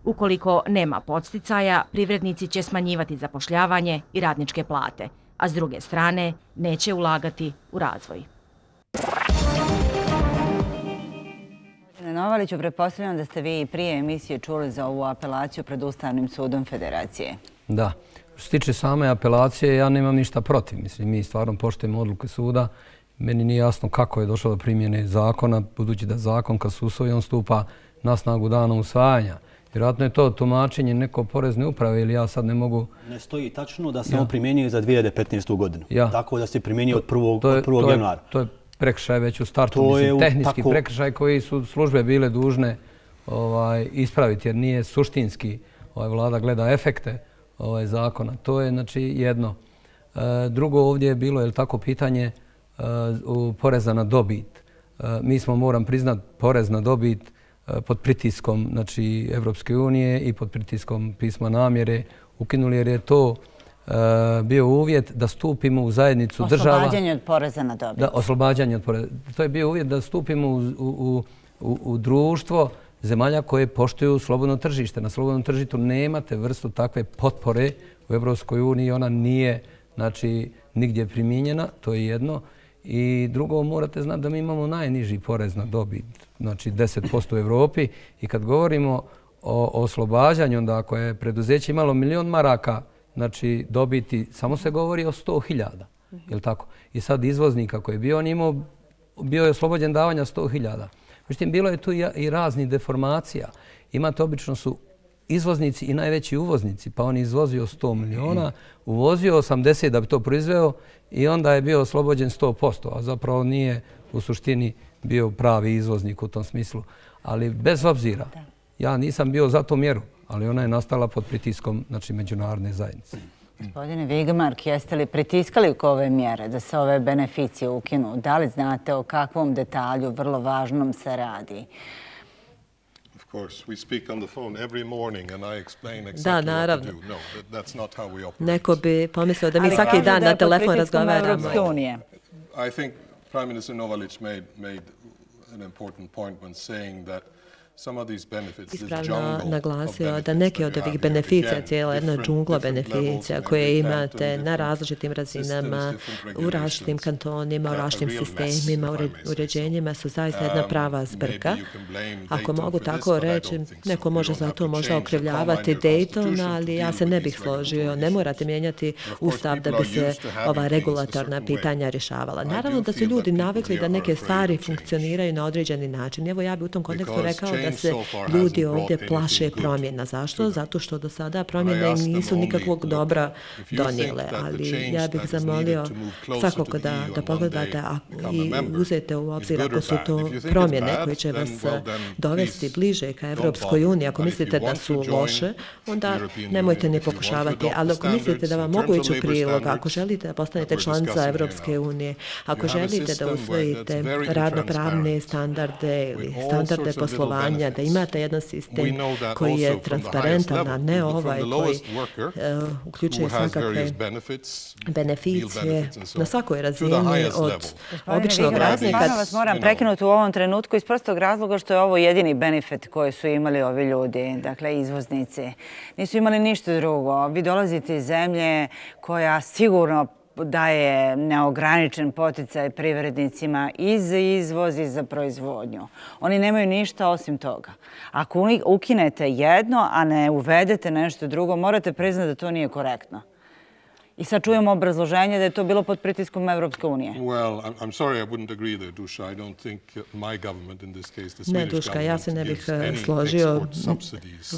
Ukoliko nema podsticaja, privrednici će smanjivati zapošljavanje i radničke plate, a s druge strane neće ulagati u razvoj. Novaliću, pretpostavljam da ste vi prije emisije čuli za ovu apelaciju pred Ustavnim sudom Federacije. Da. Što se tiče same apelacije, ja nemam ništa protiv. Mislim, mi stvarno poštujemo odluke suda. Meni nije jasno kako je došlo do primjene zakona, budući da zakon kad se usvoji, on stupa na snagu dana usvajanja. Vjerojatno je to tumačenje neko porezne uprave ili ja sad ne mogu... Ne stoji tačno da se on primjenjuje za dvije hiljade petnaestu. godinu. Tako da se primjenjuje od prvog januara. To je prekršaj već u startu. Mislim, tehnički prekršaj koji su službe bile dužne ispraviti jer nije suštinski. Vlada gleda efekte zakona. To je znači jedno. Drugo ovdje je bilo, je li tako, pitanje poreza na dobit. Mi smo, moram priznat, porez na dobit pod pritiskom znači, Evropske unije i pod pritiskom pisma namjere ukinuli jer je to bio uvjet da stupimo u zajednicu država... Oslobađanje od poreza na dobit. Da, oslobađanje od poreza. To je bio uvjet da stupimo u, u, u, u društvo zemalja koje poštuju slobodno tržište. Na slobodnom tržištu nemate vrstu takve potpore u Evropskoj uniji. Ona nije znači, nigdje primijenjena, to je jedno. I drugo, morate znati da mi imamo najniži porez na dobit, znači deset posto u Evropi. I kad govorimo o oslobađanju, onda ako je preduzeće imalo milion maraka, znači dobiti, samo se govori o sto hiljada. Je tako? I sad izvoznika koji je bio, on imao, bio je oslobođen davanja sto hiljada. Međutim, bilo je tu i razni deformacija. Imate, obično su izvoznici i najveći uvoznici, pa on izvozio sto miliona, uvozio osamdeset da bi to proizveo i onda je bio oslobođen sto posto, a zapravo nije u suštini bio pravi izvoznik u tom smislu. Ali bez obzira, ja nisam bio za tu mjeru, ali ona je nastala pod pritiskom znači, međunarodne zajednice. Gospodine Vigemark, jeste li pritiskali oko ove mjere da se ove beneficije ukinu? Da li znate o kakvom detalju vrlo važnom se radi? Da, naravno. Neko bi pomislio da mi svaki dan na telefon razgovaramo. I think Prime Minister Novalić made made an important point when saying that ispravno naglasio da neke od ovih beneficija, cijela jedna džungla beneficija koje imate na različitim razinama, u različitim kantonima, u različitim sistemima, uređenjima su zaista jedna prava zbrka. Ako mogu tako reći, neko može za to možda okrivljavati Dayton, ali ja se ne bih složio. Ne morate mijenjati ustav da bi se ova regulatorna pitanja rješavala. Naravno da su ljudi navikli da neke stvari funkcioniraju na određeni način. Evo ja bih u tom kontekstu rekao da se ljudi ovdje plaše promjena. Zašto? Zato što do sada promjene nisu nikakvog dobra donijele. Ali ja bih zamolio svakog da, da pogledate i uzete u obzir ako su to promjene koje će vas dovesti bliže ka Evropskoj uniji. Ako mislite da su loše, onda nemojte ni pokušavati. Ali ako mislite da vam mogu ići u prilog, ako želite da postanete članica Evropske unije, ako želite da usvojite radnopravne standarde ili standarde poslovanja, da imate jedan sistem koji je transparentan, a ne ovaj koji uključuje svakakve beneficije na svakoj razini od običnog radnika. Stvarno vas moram prekinuti u ovom trenutku iz prostog razloga što je ovo jedini benefit koji su imali ovi ljudi, dakle izvoznici. Nisu imali ništa drugo. Vi dolazite iz zemlje koja sigurno daje neograničen poticaj privrednicima i za izvoz i za proizvodnju. Oni nemaju ništa osim toga. Ako ukinete jedno, a ne uvedete nešto drugo, morate priznati da to nije korektno. I sad čujemo obrazloženje da je to bilo pod pritiskom Evropske unije. Well, I'm sorry, I wouldn't agree there, Duša. I don't think my government in this case, the Swedish government, ne, Duška, ja se ne bih složio.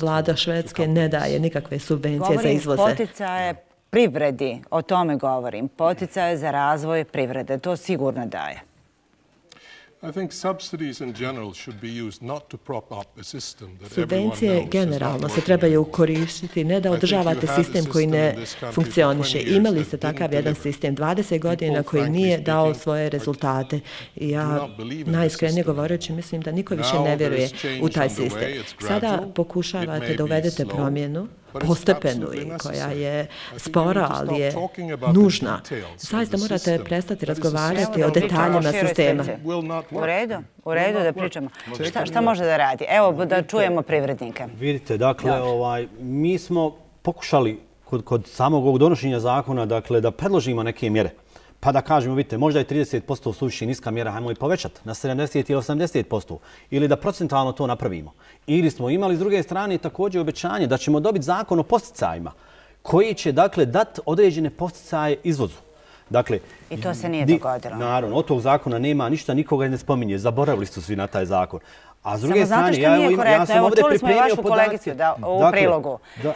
Vlada Švedske ne daje nikakve subvencije za izvoze. Govorim poticaje privredi, o tome govorim. Poticaje za razvoj privrede, to sigurno daje. Subvencije generalno se trebaju koristiti, ne da održavate sistem koji ne funkcioniše. Imali ste takav jedan sistem dvadeset godina koji nije dao svoje rezultate. I ja, najiskrenije govoreći, mislim da niko više ne vjeruje u taj sistem. Sada pokušavate da uvedete promjenu, postepenu i koja je spora, ali je nužna. Zaista morate prestati razgovarati o detaljima sistema. U redu, u redu da pričamo. Šta, šta može da radi? Evo da čujemo privrednike. Vidite, dakle, ovaj, mi smo pokušali kod, kod samog ovog donošenja zakona dakle, da predložimo neke mjere. Pa da kažemo, vidite, možda je trideset posto suviše niska mjera, hajmo i povećati na sedamdeset ili osamdeset posto. Ili da procentualno to napravimo. Ili smo imali s druge strane također obećanje da ćemo dobiti zakon o posticajima koji će, dakle, dati određene posticaje izvozu. Dakle, I to se nije dogodilo. Naravno, od tog zakona nema ništa, nikoga ne spominje. Zaboravili su svi na taj zakon. A s druge strane, ja, ja sam ovdje pripremio podatke. Da, u dakle, prilogu. Da.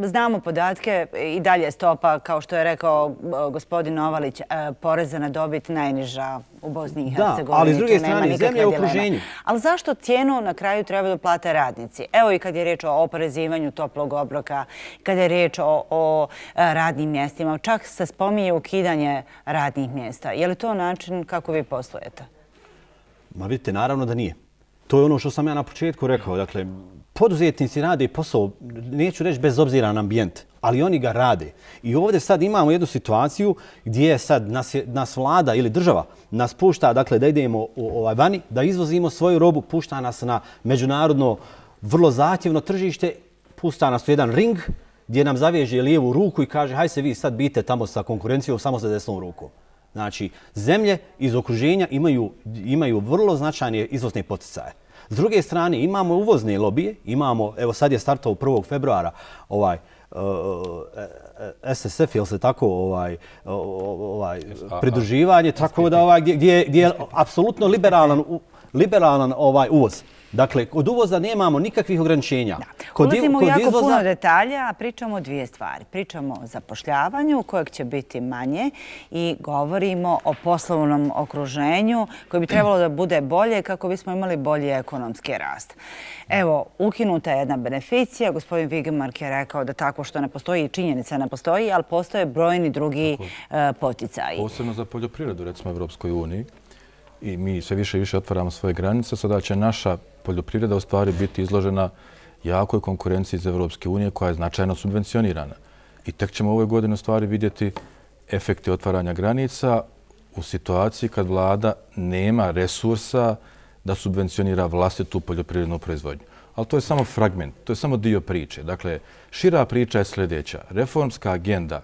Znamo podatke, i dalje stopa, kao što je rekao gospodin Novalić, poreza na dobit najniža u Bosni i Hercegovini. Da, ali s druge strane, zemlje u okruženju. Ali zašto cijenu na kraju treba da plate radnici? Evo i kad je riječ o oporezivanju toplog obroka, kad je riječ o, o radnim mjestima, čak se spominje ukidanje radnih mjesta. Je li to način kako vi poslujete? Ma vidite, naravno da nije. To je ono što sam ja na početku rekao. Dakle, poduzetnici rade posao, neću reći bez obzira na ambijent, ali oni ga rade. I ovdje sad imamo jednu situaciju gdje sad nas, je, nas vlada ili država nas pušta dakle, da idemo u, ovaj, vani, da izvozimo svoju robu, pušta nas na međunarodno vrlo zahtjevno tržište, pušta nas u jedan ring gdje nam zaveže lijevu ruku i kaže haj se vi sad bite tamo sa konkurencijom samo sa desnom rukom. Znači, zemlje iz okruženja imaju, imaju vrlo značajne izvozne poticaje. S druge strane, imamo uvozne lobije, imamo, evo sad je startao prvog februara ovaj, uh, S S F, jel se tako, ovaj, ovaj, pridruživanje, tako da ovaj, gdje, gdje, gdje je apsolutno liberalan, liberalan ovaj, uvoz. Dakle, kod uvoza nemamo nikakvih ograničenja. Kod, Ulazimo kod u jako izvoza... puno detalja, a pričamo o dvije stvari. Pričamo o zapošljavanju, kojeg će biti manje, i govorimo o poslovnom okruženju koje bi trebalo da bude bolje kako bismo imali bolji ekonomski rast. Evo, ukinuta je jedna beneficija. Gospodin Vigemark je rekao da tako što ne postoji, činjenica ne postoji, ali postoje brojni drugi tako, poticaji. Posebno za poljoprivredu, recimo, Evropskoj uniji. I mi sve više i više otvaramo svoje granice, sada će naša poljoprivreda u stvari biti izložena jakoj konkurenciji iz Evropske unije koja je značajno subvencionirana. I tek ćemo ove godine u stvari vidjeti efekte otvaranja granica u situaciji kad vlada nema resursa da subvencionira vlastitu poljoprivrednu proizvodnju. Ali to je samo fragment, to je samo dio priče. Dakle, šira priča je sljedeća. Reformska agenda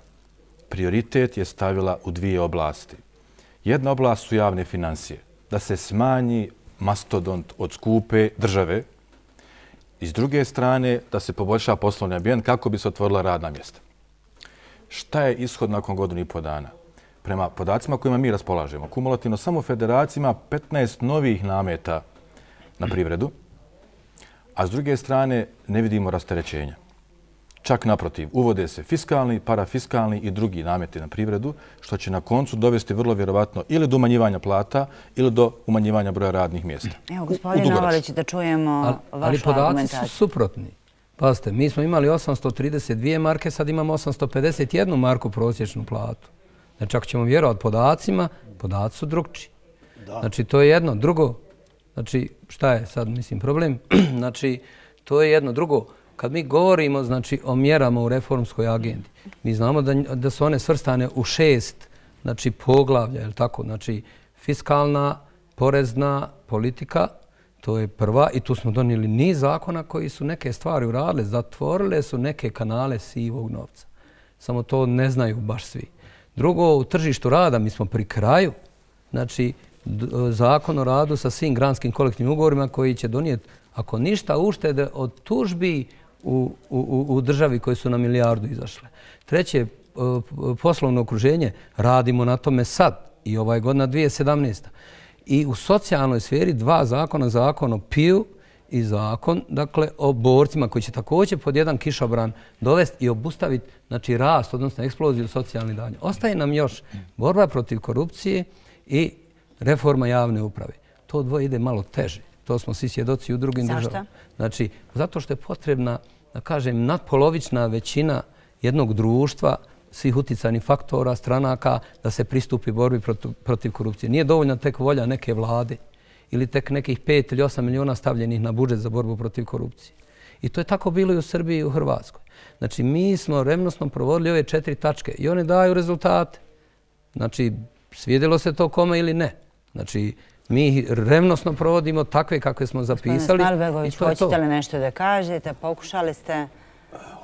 prioritet je stavila u dvije oblasti. Jedna oblast su javne financije, da se smanji mastodont od skupe države i s druge strane da se poboljša poslovni ambijent kako bi se otvorila radna mjesta. Šta je ishod nakon godinu i po dana? Prema podacima kojima mi raspolažemo, kumulativno samo federacija ima petnaest novih nameta na privredu, a s druge strane ne vidimo rasterećenja. Čak naprotiv, uvode se fiskalni, parafiskalni i drugi nameti na privredu, što će na koncu dovesti vrlo vjerovatno ili do umanjivanja plata ili do umanjivanja broja radnih mjesta. Evo, gospodin Novalić, da čujemo ali, vašu ali podaci argumentaciju. Su suprotni. Pazite, mi smo imali osamsto trideset dvije marke, sad imamo osamsto pedeset jednu marku prosječnu platu. Znači, ako ćemo vjerovati podacima, podaci su drugčiji. Znači, to je jedno. Drugo, znači, šta je sad, mislim, problem? Znači, to je jedno. Drugo, kad mi govorimo znači, o mjerama u reformskoj agendi, mi znamo da, da su one svrstane u šest znači, poglavlja, je li tako? Znači, fiskalna, porezna politika, to je prva, i tu smo donijeli niz zakona koji su neke stvari uradile, zatvorile su neke kanale sivog novca. Samo to ne znaju baš svi. Drugo, u tržištu rada mi smo pri kraju, znači, zakon o radu sa svim granskim kolektivnim ugovorima koji će donijeti, ako ništa, uštede od tužbi u, u, u državi koje su na milijardu izašle. Treće, poslovno okruženje, radimo na tome sad i ova je godina dvije tisuće sedamnaesta. I u socijalnoj sferi dva zakona, zakon o P I U i zakon dakle, o borcima koji će također pod jedan kišobran dovesti i obustaviti znači, rast, odnosno eksploziju socijalnih davanja. Ostaje nam još borba protiv korupcije i reforma javne uprave. To dvoje ide malo teže. To smo svi svjedoci u drugim državama. Zašto? Znači, zato što je potrebna, da kažem, nadpolovična većina jednog društva, svih uticajnih faktora, stranaka, da se pristupi borbi protiv, protiv korupcije. Nije dovoljna tek volja neke vlade ili tek nekih pet ili osam miliona stavljenih na budžet za borbu protiv korupcije. I to je tako bilo i u Srbiji i u Hrvatskoj. Znači, mi smo revnosno provodili ove četiri tačke i one daju rezultate. Znači, svidjelo se to kome ili ne. Znači, mi revnosno provodimo takve kakve smo zapisali. Gospodine Smalbegović, hoćete li nešto da kažete? Pokušali ste...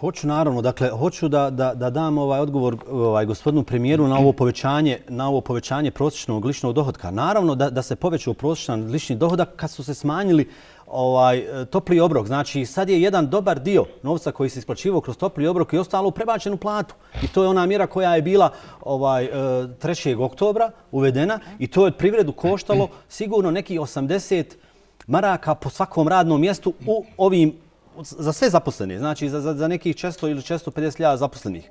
Hoću, naravno. Dakle, hoću da, da, da dam ovaj odgovor ovaj, gospodinu premijeru na ovo povećanje, na ovo povećanje prosječnog ličnog dohodka. Naravno da, da se povećao prosječan lični dohodak kad su se smanjili ovaj, topli obrok. Znači, sad je jedan dobar dio novca koji se isplaćivao kroz topli obrok i ostalo prebačen u platu. I to je ona mjera koja je bila ovaj, trećeg oktobra uvedena i to je od privredu koštalo sigurno nekih osamdeset maraka po svakom radnom mjestu u ovim za sve zaposlene, znači za, za, za nekih četiristo ili četiristo pedeset hiljada zaposlenih.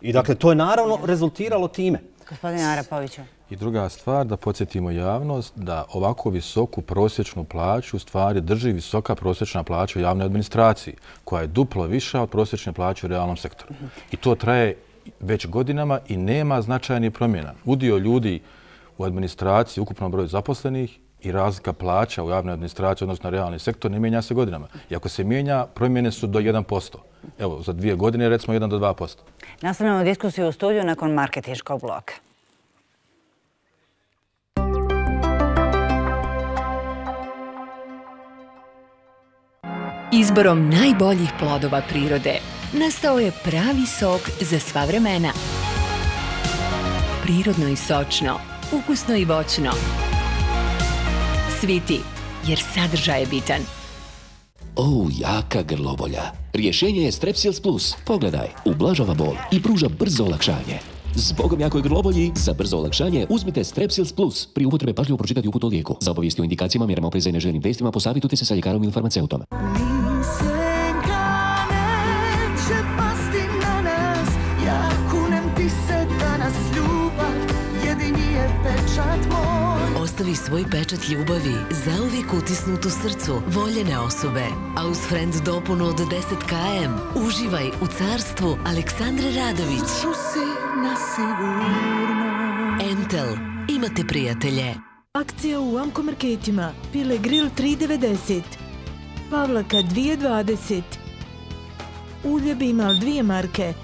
I dakle, to je naravno rezultiralo time. Gospodine Arapoviću. I druga stvar, da podsjetimo javnost da ovako visoku prosječnu plaću u stvari drži visoka prosječna plaća u javnoj administraciji, koja je duplo viša od prosječne plaće u realnom sektoru. I to traje već godinama i nema značajnih promjena. Udio ljudi u administraciji, ukupnom broju zaposlenih, i razlika plaća u javnoj administraciji, odnosno realni sektor, ne mijenja se godinama. I ako se mijenja, promjene su do jedan posto. Evo, za dvije godine recimo jedan do dva posto. Nastavljamo diskusiju u studiju nakon marketinškog bloka. Izborom najboljih plodova prirode nastao je pravi sok za sva vremena. Prirodno i sočno, ukusno i voćno. Sviti, jer sadržaj je bitan. O, jaka grlobolja. Rješenje je Strepsils Plus. Pogledaj, ublažava bol i pruža brzo olakšanje. Zbogom jakoj grlobolji, za brzo olakšanje uzmite Strepsils Plus. Pri upotrebi pažljivo pročitati uput o lijeku. Za obavijesti o indikacijama, mjerama opreza i neželjenim testima posavitujte se sa ljekarom ili farmaceutom. Ostavi svoj pečat ljubavi, zauvijek utisnut u srcu voljene osobe. A uz Friends dopunu od deset kilometara uživaj u carstvu Aleksandre Radović. Entel, imate prijatelje. Akcija u Amko marketima. Pile grill tri devedeset. Pavlaka dvije dvadeset. Ulje Bimal dvije marke.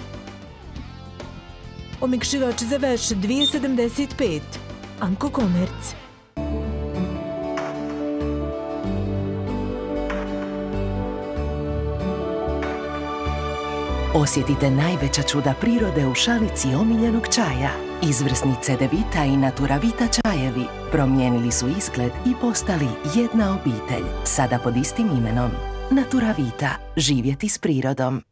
Omekšivač za veš dvije sedamdeset pet. Amko Komerc. Osjetite najveća čuda prirode u šalici omiljenog čaja. Izvrsni Cedevita i Naturavita čajevi promijenili su izgled i postali jedna obitelj. Sada pod istim imenom. Naturavita. Živjeti s prirodom.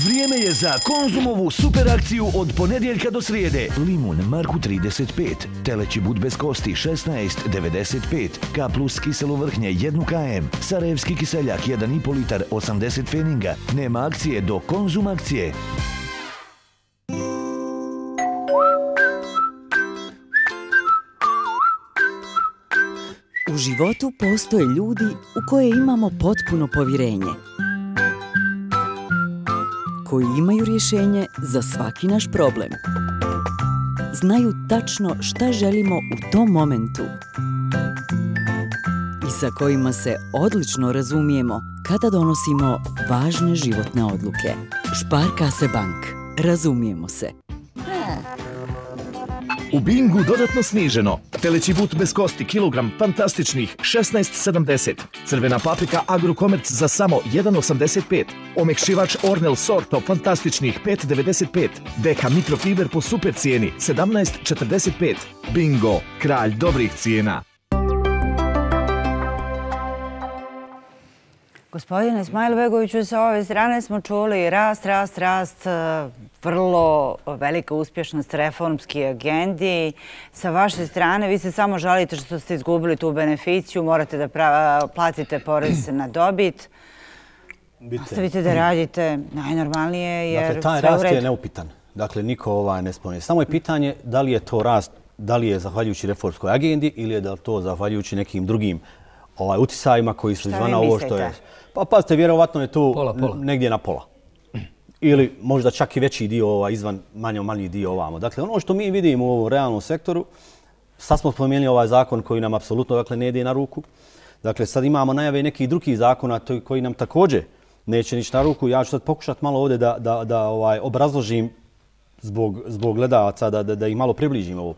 Vrijeme je za Konzumovu super akciju od ponedjeljka do srijede. Limun Marku trideset pet, teleći but bez kosti šesnaest devedeset pet, K plus kiselo vrhnje jedan kilogram, Sarajevski kiseljak jedan i pol litar osamdeset pfeninga. Nema akcije do Konzum akcije. U životu postoje ljudi u koje imamo potpuno povjerenje, koji imaju rješenje za svaki naš problem. Znaju tačno šta želimo u tom momentu i sa kojima se odlično razumijemo kada donosimo važne životne odluke. Sparkasse Bank. Razumijemo se. U Bingu dodatno sniženo. Teleći but bez kosti kilogram fantastičnih šesnaest sedamdeset. Crvena paprika Agrokomerc za samo jedan osamdeset pet. Omekšivač Ornel Sorto fantastičnih pet devedeset pet. D H mikrofiber po super cijeni sedamnaest četrdeset pet. Bingo, kralj dobrih cijena. Gospodine Smajlbegoviću, sa ove strane smo čuli rast, rast, rast, vrlo velika uspješnost reformski agendi. Sa vaše strane, vi se samo žalite što ste izgubili tu beneficiju, morate da platite porez na dobit. Nastavite da radite najnormalnije jer sve u redu. Dakle, taj rast je neupitan. Dakle, niko ovaj ne spominje. Samo je pitanje da li je to rast, da li je zahvaljujući reformskoj agendi ili je da to zahvaljujući nekim drugim ovaj, utisajima koji su izvan ovo što je. Pa pazite, vjerovatno je to pola, pola. negdje na pola. Ili možda čak i veći dio ovaj, izvan manjo manji dio ovamo. Dakle, ono što mi vidimo u ovom realnom sektoru, sad smo spomenuli ovaj zakon koji nam apsolutno dakle, ne ide na ruku. Dakle, sad imamo najave nekih drugih zakona koji nam također neće nići na ruku. Ja ću sad pokušati malo ovdje da, da, da ovaj, obrazložim zbog, zbog gledalaca, da, da, da ih malo približim ovo.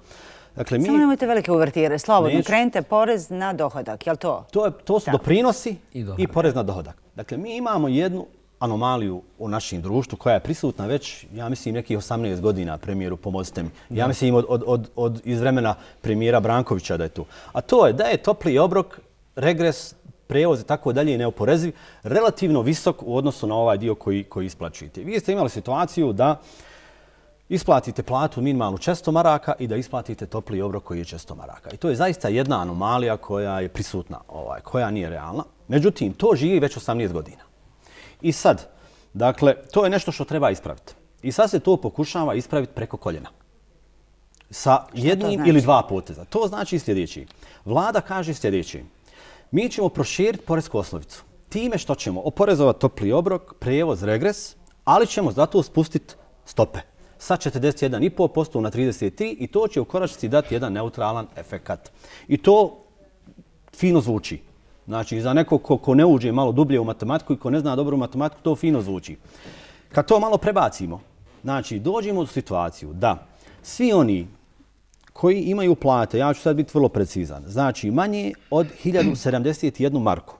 Dakle, mi... Samo nemojte velike uvertire. Slobodno, Neću... krenite porez na dohodak, je li to? To, je, to su da. doprinosi i, i porez na dohodak. Dakle, mi imamo jednu anomaliju u našem društvu koja je prisutna već, ja mislim, nekih osamnaest godina, premijeru, pomozite mi. Ja mislim od, od, od, od iz vremena premijera Brankovića da je tu. A to je da je topli obrok, regres, prevoz i tako dalje neoporeziv, relativno visok u odnosu na ovaj dio koji, koji isplaćujete. Vi ste imali situaciju da isplatite platu minimalnu često maraka i da isplatite topli obrok koji je često maraka. I to je zaista jedna anomalija koja je prisutna, ovaj, koja nije realna. Međutim, to živi već osamnaest godina. I sad, dakle, to je nešto što treba ispraviti. I sad se to pokušava ispraviti preko koljena. Sa jednim znači? ili dva poteza. To znači sljedeći. Vlada kaže sljedeći. Mi ćemo proširiti poresku osnovicu. Time što ćemo oporezovati topli obrok, prevoz, regres, ali ćemo zato spustiti stope sa četrdeset jedan i pol posto na trideset tri i to će u konačnici dati jedan neutralan efekat. I to fino zvuči. Znači, za nekog ko, ko ne uđe malo dublje u matematiku i ko ne zna dobro matematiku, to fino zvuči. Kad to malo prebacimo, znači, dođemo u situaciju da svi oni koji imaju plate, ja ću sad biti vrlo precizan, znači manje od hiljadu sedamdeset jednu marku,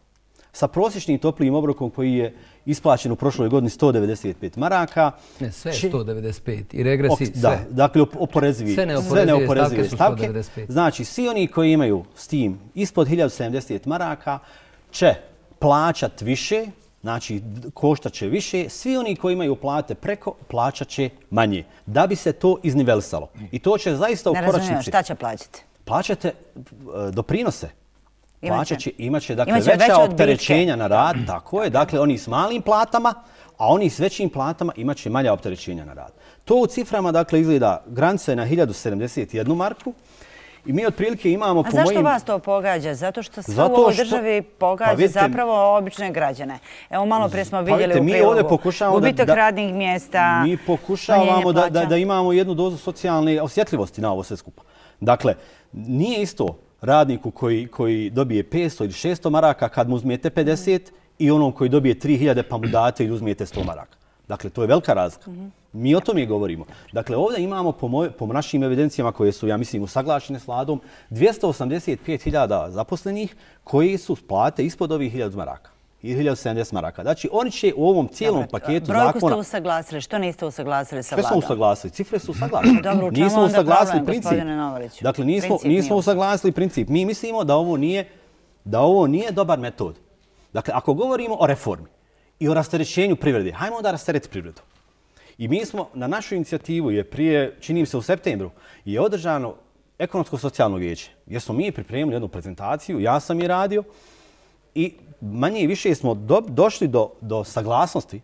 sa prosječnim toplijim obrokom koji je isplaćen u prošloj godini sto devedeset pet maraka. Ne, sve će... sto devedeset pet i regresi sve. Da, dakle, oporezivi, sve neoporezive, sve neoporezive stavke, stavke su sto devedeset pet. Znači, svi oni koji imaju s tim ispod hiljadu sedamdeset maraka će plaćat više, znači koštat će više, svi oni koji imaju plate preko plaćat će manje, da bi se to iznivelisalo. I to će zaista u konačnici... Ne razumijem, šta će plaćati? Plaćate doprinose. Plaćat će, imat će, dakle, imaće veća opterećenja na rad, tako je, dakle, oni s malim platama, a oni s većim platama imat će manja opterećenja na rad. To u ciframa, dakle, izgleda granice na hiljadu sedamdeset jednu marku i mi otprilike imamo... A po zašto mojim... vas to pogađa? Zato što sve Zato u ovoj državi pogađa pa vidite, zapravo obične građane. Evo, malo prije smo vidjeli pa vidite, u prilogu gubitak da, radnih mjesta, mi pokušavamo da, da, da imamo jednu dozu socijalne osjetljivosti na ovo sve skupa. Dakle, nije isto radniku koji, koji dobije petsto ili šesto maraka kad mu uzmijete pedeset i onom koji dobije tri hiljade pa mu date ili uzmijete sto maraka. Dakle, to je velika razlika. Mi o tome govorimo. Dakle, ovdje imamo po, moj, po našim evidencijama koje su, ja mislim, usaglašene s vladom, dvjesto osamdeset pet hiljada zaposlenih koji su plate ispod ovih hiljadu maraka. I hiljadu sedamdeset maraka. Znači, oni će u ovom cijelom Dobre, paketu brojku zakona... Brojku ste usaglasili. Što niste usaglasili sa vladom? Sve smo usaglasili. Cifre su usaglasili. Dobro, u čemu nismo onda problem, gospodine Novaliću? Dakle, nismo, nismo usaglasili princip. Mi mislimo da ovo nije, da ovo nije dobar metod. Dakle, ako govorimo o reformi i o rasterećenju privrede, hajmo onda rasteretiti privredu. I mi smo na našu inicijativu, je prije, čini se u septembru, je održano ekonomsko-socijalno vijeće, gdje smo mi pripremili jednu prezentaciju, ja sam je radio, i manje i više smo do, došli do, do saglasnosti.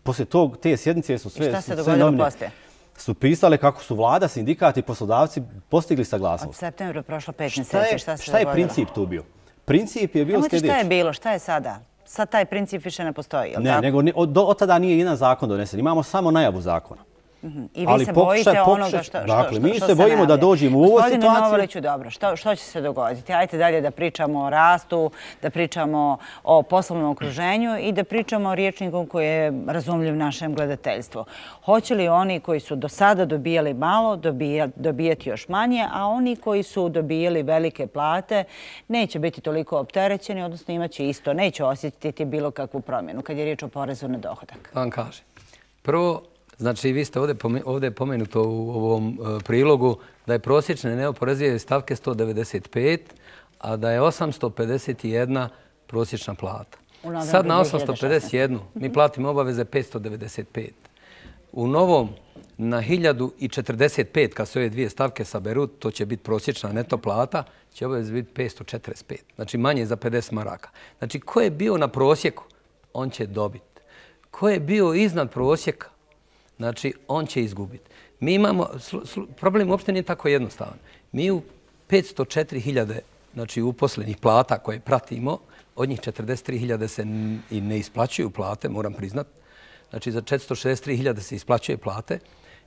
Poslije tog, te sjednice su sve, I šta se sve dogodilo poslije? Su pisale kako su vlada, sindikati i poslodavci postigli saglasnost. Od septembra prošlo pet mjeseci. Šta, šta je princip tu bio? Princip je bio sljedeći. Šta je bilo? Šta je sada? Sad taj princip više ne postoji, je li ne, tako? Nego od, do, od tada nije jedan zakon donesen. Imamo samo najavu zakona. Mm-hmm. I vi Ali se bojite pokušaj, onoga što, što, dakle, što, mi što se bojimo najavlja. Da dođemo u ovu situaciju. Gospodine Novaliću, dobro, što, što će se dogoditi? Ajde dalje da pričamo o rastu, da pričamo o poslovnom okruženju i da pričamo o riječniku koji je razumljiv našem gledateljstvu. Hoće li oni koji su do sada dobijali malo dobija, dobijati još manje, a oni koji su dobijali velike plate neće biti toliko opterećeni, odnosno imaće isto, neće osjetiti bilo kakvu promjenu kad je riječ o porezu na dohodak? Da vam kaže. Prvo, znači, vi ste ovdje, ovdje pomenuto u ovom prilogu da je prosječne neoporezive stavke sto devedeset pet, a da je osamsto pedeset jedna prosječna plata. Sad na osamsto pedeset jedan mi platimo obaveze petsto devedeset pet. U novom na hiljadu četrdeset pet, kad se ove dvije stavke saberu, to će biti prosječna neto plata, će obaveze biti petsto četrdeset pet. Znači manje za pedeset maraka. Znači ko je bio na prosjeku, on će dobiti. Ko je bio iznad prosjeka, znači on će izgubiti. Mi imamo, problem uopšte nije tako jednostavan. Mi u petsto četiri hiljade znači uposlenih plata koje pratimo, od njih četrdeset tri hiljade se i ne isplaćuju plate, moram priznat. Znači za četiristo šezdeset tri hiljade se isplaćuje plate.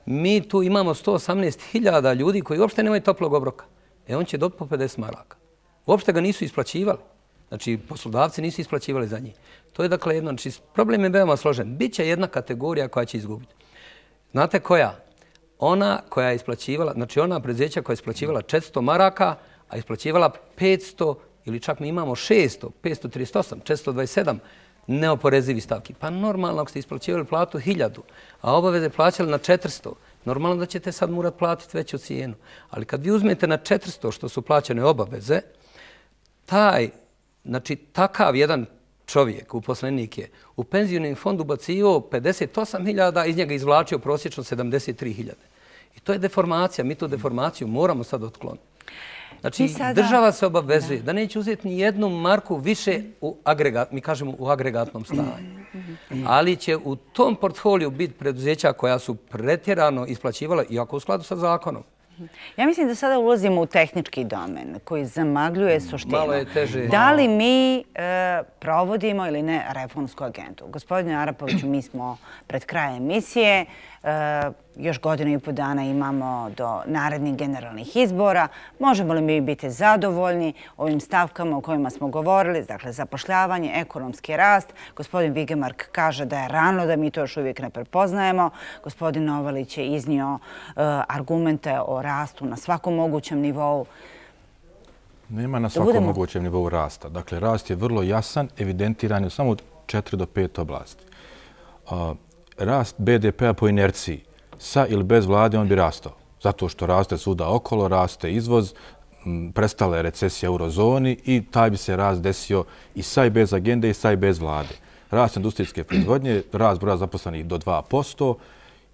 Mi tu imamo sto osamnaest hiljada ljudi koji uopšte nemaju toplog obroka. E on će dobiti po pedeset maraka. Uopšte ga nisu isplaćivali. Znači poslodavci nisu isplaćivali za njih. To je dakle jedno, znači problem je veoma složen. Biće jedna kategorija koja će izgubiti. Znate koja? Ona koja je isplaćivala, znači ona preduzeća koja je isplaćivala četiristo maraka, a isplaćivala petsto ili čak mi imamo šesto, petsto trideset osam, četiristo dvadeset sedam neoporezivi stavki. Pa normalno ako ste isplaćivali platu hiljadu, a obaveze plaćali na četiristo, normalno da ćete sad morati platiti veću cijenu. Ali kad vi uzmete na četiristo što su plaćane obaveze, taj, znači takav jedan čovjek, uposlenik je u penzijski fond ubacio pedeset osam hiljada, iz njega izvlačio prosječno sedamdeset tri hiljade. I to je deformacija. Mi tu deformaciju moramo sad otkloniti. Znači, država se obavezuje da neće uzeti ni jednu marku više u agregat, mi kažemo u agregatnom stanju. Ali će u tom portfoliju biti preduzeća koja su pretjerano isplaćivala, iako u skladu sa zakonom. Ja mislim da sada ulazimo u tehnički domen koji zamagljuje suštinu. Malo je teže. Da li mi provodimo ili ne reformsku agendu? Gospodine Arapoviću, mi smo pred krajem emisije. Još godinu i po dana imamo do narednih generalnih izbora. Možemo li mi biti zadovoljni ovim stavkama o kojima smo govorili, dakle zapošljavanje, ekonomski rast? Gospodin Vigemark kaže da je rano, da mi to još uvijek ne prepoznajemo. Gospodin Novalić je iznio argumente o rastu na svakom mogućem nivou. Nema na svakom mogućem nivou rasta. Dakle, rast je vrlo jasan, evidentiran je samo u četiri do pet oblasti. Rast be de pea po inerciji, sa ili bez vlade, on bi rastao. Zato što raste svuda okolo, raste izvoz, prestala je recesija u eurozoni i taj bi se rast desio i sa i bez agende i sa i bez vlade. Rast industrijske proizvodnje, rast broja zaposlenih do dva posto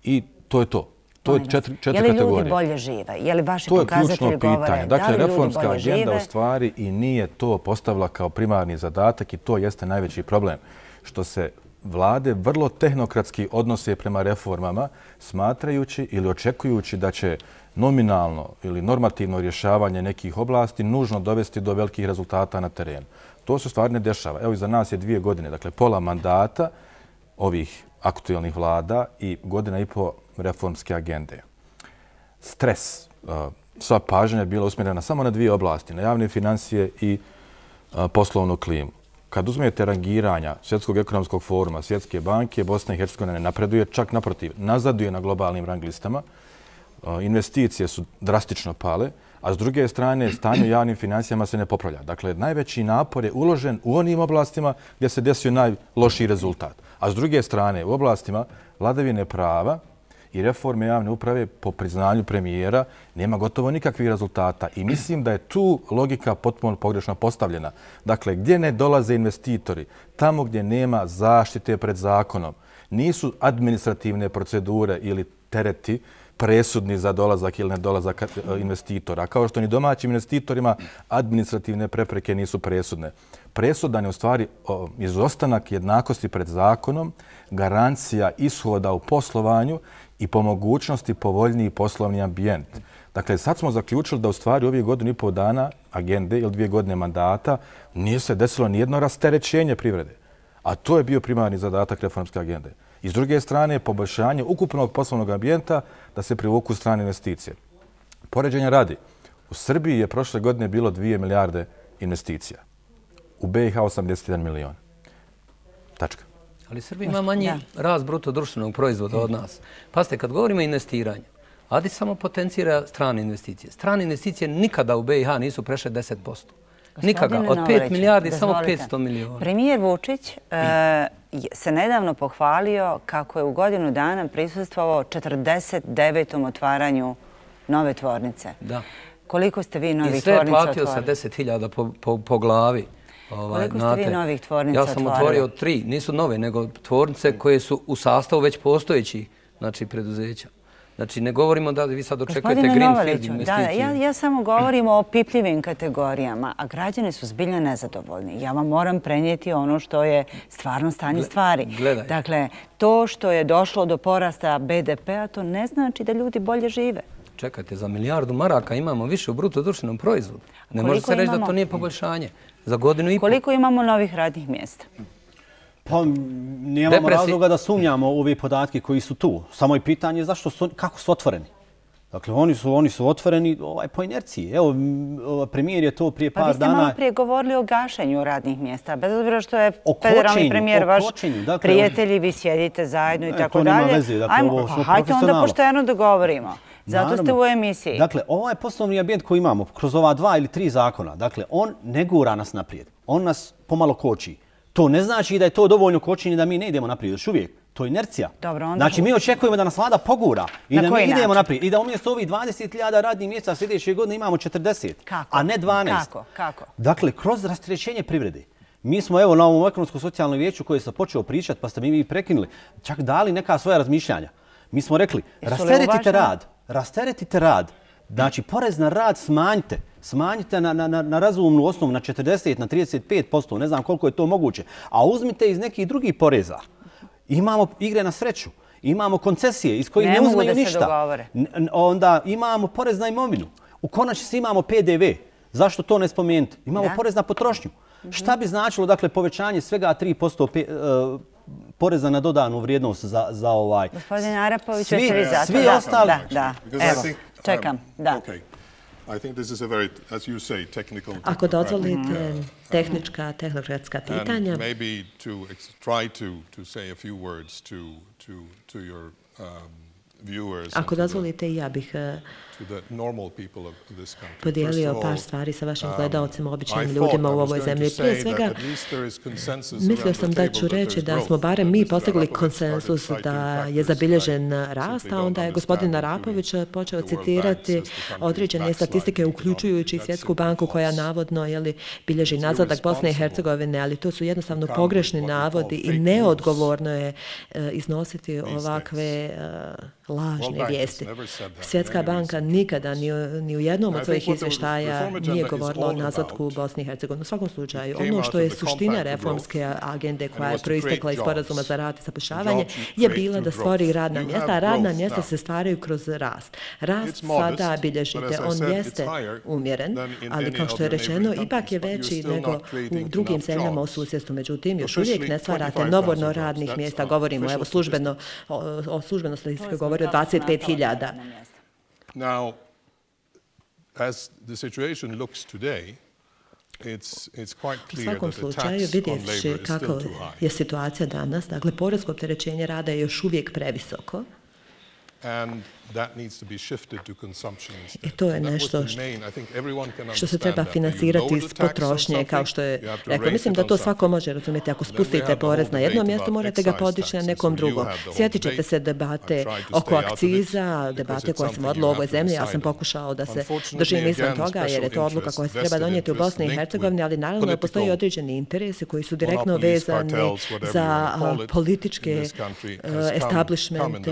i to je to. To je četiri kategorije. Je li ljudi bolje žive? Je li vaši pokazatelji govore? Dakle, reformska agenda u stvari i nije to postavila kao primarni zadatak i to jeste najveći problem. Što se vlade vrlo tehnokratski odnose prema reformama, smatrajući ili očekujući da će nominalno ili normativno rješavanje nekih oblasti nužno dovesti do velikih rezultata na terenu. To se stvari ne dešava. Evo, iza nas je dvije godine, dakle pola mandata ovih aktuelnih vlada i godina i po reformske agende. Stres, sva pažnja je bila usmjerena samo na dvije oblasti, na javne financije i poslovnu klimu. Kad uzmete rangiranja Svjetskog ekonomskog foruma, Svjetske banke, Bosna i Hercegovina ne napreduje, čak naprotiv, nazaduje na globalnim rang listama. Investicije su drastično pale, a s druge strane stanje u javnim financijama se ne popravlja. Dakle, najveći napor je uložen u onim oblastima gdje se desio najlošiji rezultat. A s druge strane, u oblastima vladavine prava i reforme javne uprave po priznanju premijera nema gotovo nikakvih rezultata. I mislim da je tu logika potpuno pogrešno postavljena. Dakle, gdje ne dolaze investitori, tamo gdje nema zaštite pred zakonom, nisu administrativne procedure ili tereti presudni za dolazak ili nedolazak investitora. Kao što ni domaćim investitorima administrativne prepreke nisu presudne. Presudan je u stvari izostanak jednakosti pred zakonom, garancija ishoda u poslovanju i po mogućnosti povoljniji poslovni ambijent. Dakle, sad smo zaključili da u stvari ovih godinu i pol dana agende ili dvije godine mandata nije se desilo nijedno rasterećenje privrede. A to je bio primarni zadatak reformske agende. I s druge strane, poboljšanje ukupnog poslovnog ambijenta da se privuku strane investicije. Poređenja radi. U Srbiji je prošle godine bilo dvije milijarde investicija. U be i ha osamdeset jedan milion. Tačka. Ali Srbija ima manji rast bruto društvenog proizvoda od nas. Pazite, kad govorimo o investiranju, A D I samo potencira strane investicije. Strane investicije nikada u be i ha nisu prešle deset posto. Nikada. Od pet milijardi samo petsto miliona. Premijer Vučić se nedavno pohvalio kako je u godinu dana prisustvovao četrdeset devetom otvaranju nove tvornice. Da. Koliko ste vi novi tvornica otvorili? I sve je platio otvorili? sa deset hiljada po glavi. Koliko ste vi novih tvornica otvorili? Ja sam otvorio tri, nisu nove, nego tvornice koje su u sastavu već postojeći preduzeća. Znači, ne govorimo da vi sad očekujete greenfield investiciju. Ja, ja samo govorim o pipljivim kategorijama, a građani su zbiljno nezadovoljni. Ja vam moram prenijeti ono što je stvarno stanje stvari. Gledaj. Dakle, to što je došlo do porasta be de pea, to ne znači da ljudi bolje žive. Čekajte, za milijardu maraka imamo više u bruto društvenom proizvodu. Ne može se reći da to nije poboljšanje. Za godinu i pol. Koliko imamo novih radnih mjesta? Pa nemamo razloga da sumnjamo ove podatke koji su tu. Samo je pitanje zašto su, kako su otvoreni. Dakle, oni su, oni su otvoreni ovaj, po inerciji. Evo, premijer je to prije par dana... Pa vi ste malo prije govorili o gašenju radnih mjesta. Bez obzira što je federalni premijer vaš prijatelji, vi sjedite zajedno i tako dalje. To nema veze. Dakle, ovo smo profesionalno. Hajde onda pošteno dogovorimo. Zato ste u emisiji. Dakle, ovaj poslovni ambijent koji imamo kroz ova dva ili tri zakona, dakle, on ne gura nas naprijed. On nas pomalo koči. To ne znači da je to dovoljno kočenje da mi ne idemo naprijed. Još uvijek. To je inercija. Znači, mi očekujemo da nas vlada pogura i da mi idemo naprijed. I da umjesto ovih dvadeset hiljada radnih mjesta sljedeće godine imamo četrdeset, a ne dvanaest. Kako? Kako? Dakle, kroz rasterećenje privrede. Mi smo evo na ovom ekonomsko-socijalnom vijeću koje sam počeo pričati, pa ste mi vi prekinuli, čak dali neka svoja razmišljanja. Mi smo rekli, rasteretite rad, rasteretite rad, znači porez na rad smanjite, smanjite na, na, na razumnu osnovu na četrdeset, na trideset pet posto, ne znam koliko je to moguće, a uzmite iz nekih drugih poreza. Imamo igre na sreću, imamo koncesije iz kojih ne, ne uzmaju ništa. Onda imamo porez na imovinu. U konačnici imamo pe de ve. Zašto to ne spomenuti? Imamo da. porez na potrošnju. Mm-hmm. Šta bi značilo dakle povećanje svega tri posto pe, uh, poreza na dodanu vrijednost za, za ovaj... Gospodin Arapović, svi, vi za svi da, ostali... Da, da, evo, think, čekam, um, da. Okay. I think this is a very, as you say, technical... Ako dozvolite tehnička, tehnokratska pitanja... And maybe to try to, to say a few words to, to, to your um, viewers... Ako dozvolite, ja bih podijelio par stvari sa vašim gledalcima, običnim ljudima u ovoj zemlji. Prije svega, mislio sam da ću reći da smo barem mi postigli konsensus da je zabilježen rast, a onda je gospodin Arapović počeo citirati određene statistike, uključujući Svjetsku banku koja navodno jeli, bilježi nazadak Bosne i Hercegovine, ali to su jednostavno pogrešni navodi i neodgovorno je iznositi ovakve lažne vijesti. Svjetska banka nikada ni, ni u jednom od svojih izvještaja nije govorila o nazadku u Bosni i Hercegovini. U svakom slučaju, ono što je suština reformske agende koja je proistekla iz sporazuma za rad i zapošljavanje je bila da stvori radna mjesta, a radna mjesta se stvaraju kroz rast. Rast sada bilježite, on jeste umjeren, ali kao što je rečeno, ipak je veći nego u drugim zemljama u susjedstvu. Međutim, još uvijek ne stvarate novorno radnih mjesta. Govorimo, evo, službeno, o, o službeno statistike govori o dvadeset pet hiljada. Now, as the situation looks today, it's, it's quite clear that the tax on labor is still too high. Je situacija danas, dakle, porezko opterećenje rada je još uvijek previsoko. And that needs to be shifted to consumption instead. I to je nešto što se treba financirati iz potrošnje, kao što je rekao. Mislim da to svako može razumjeti. Ako spustite porez na jedno mjesto, morate ga podići na nekom drugom. Sjetit ćete se debate oko akciza, debate koje sam vodila u ovoj zemlji. Ja sam pokušao da se držim izvan toga, jer je to odluka koja se treba donijeti u Bosni i Hercegovini, ali naravno postoji određeni interesi koji su direktno vezani za političke establishmente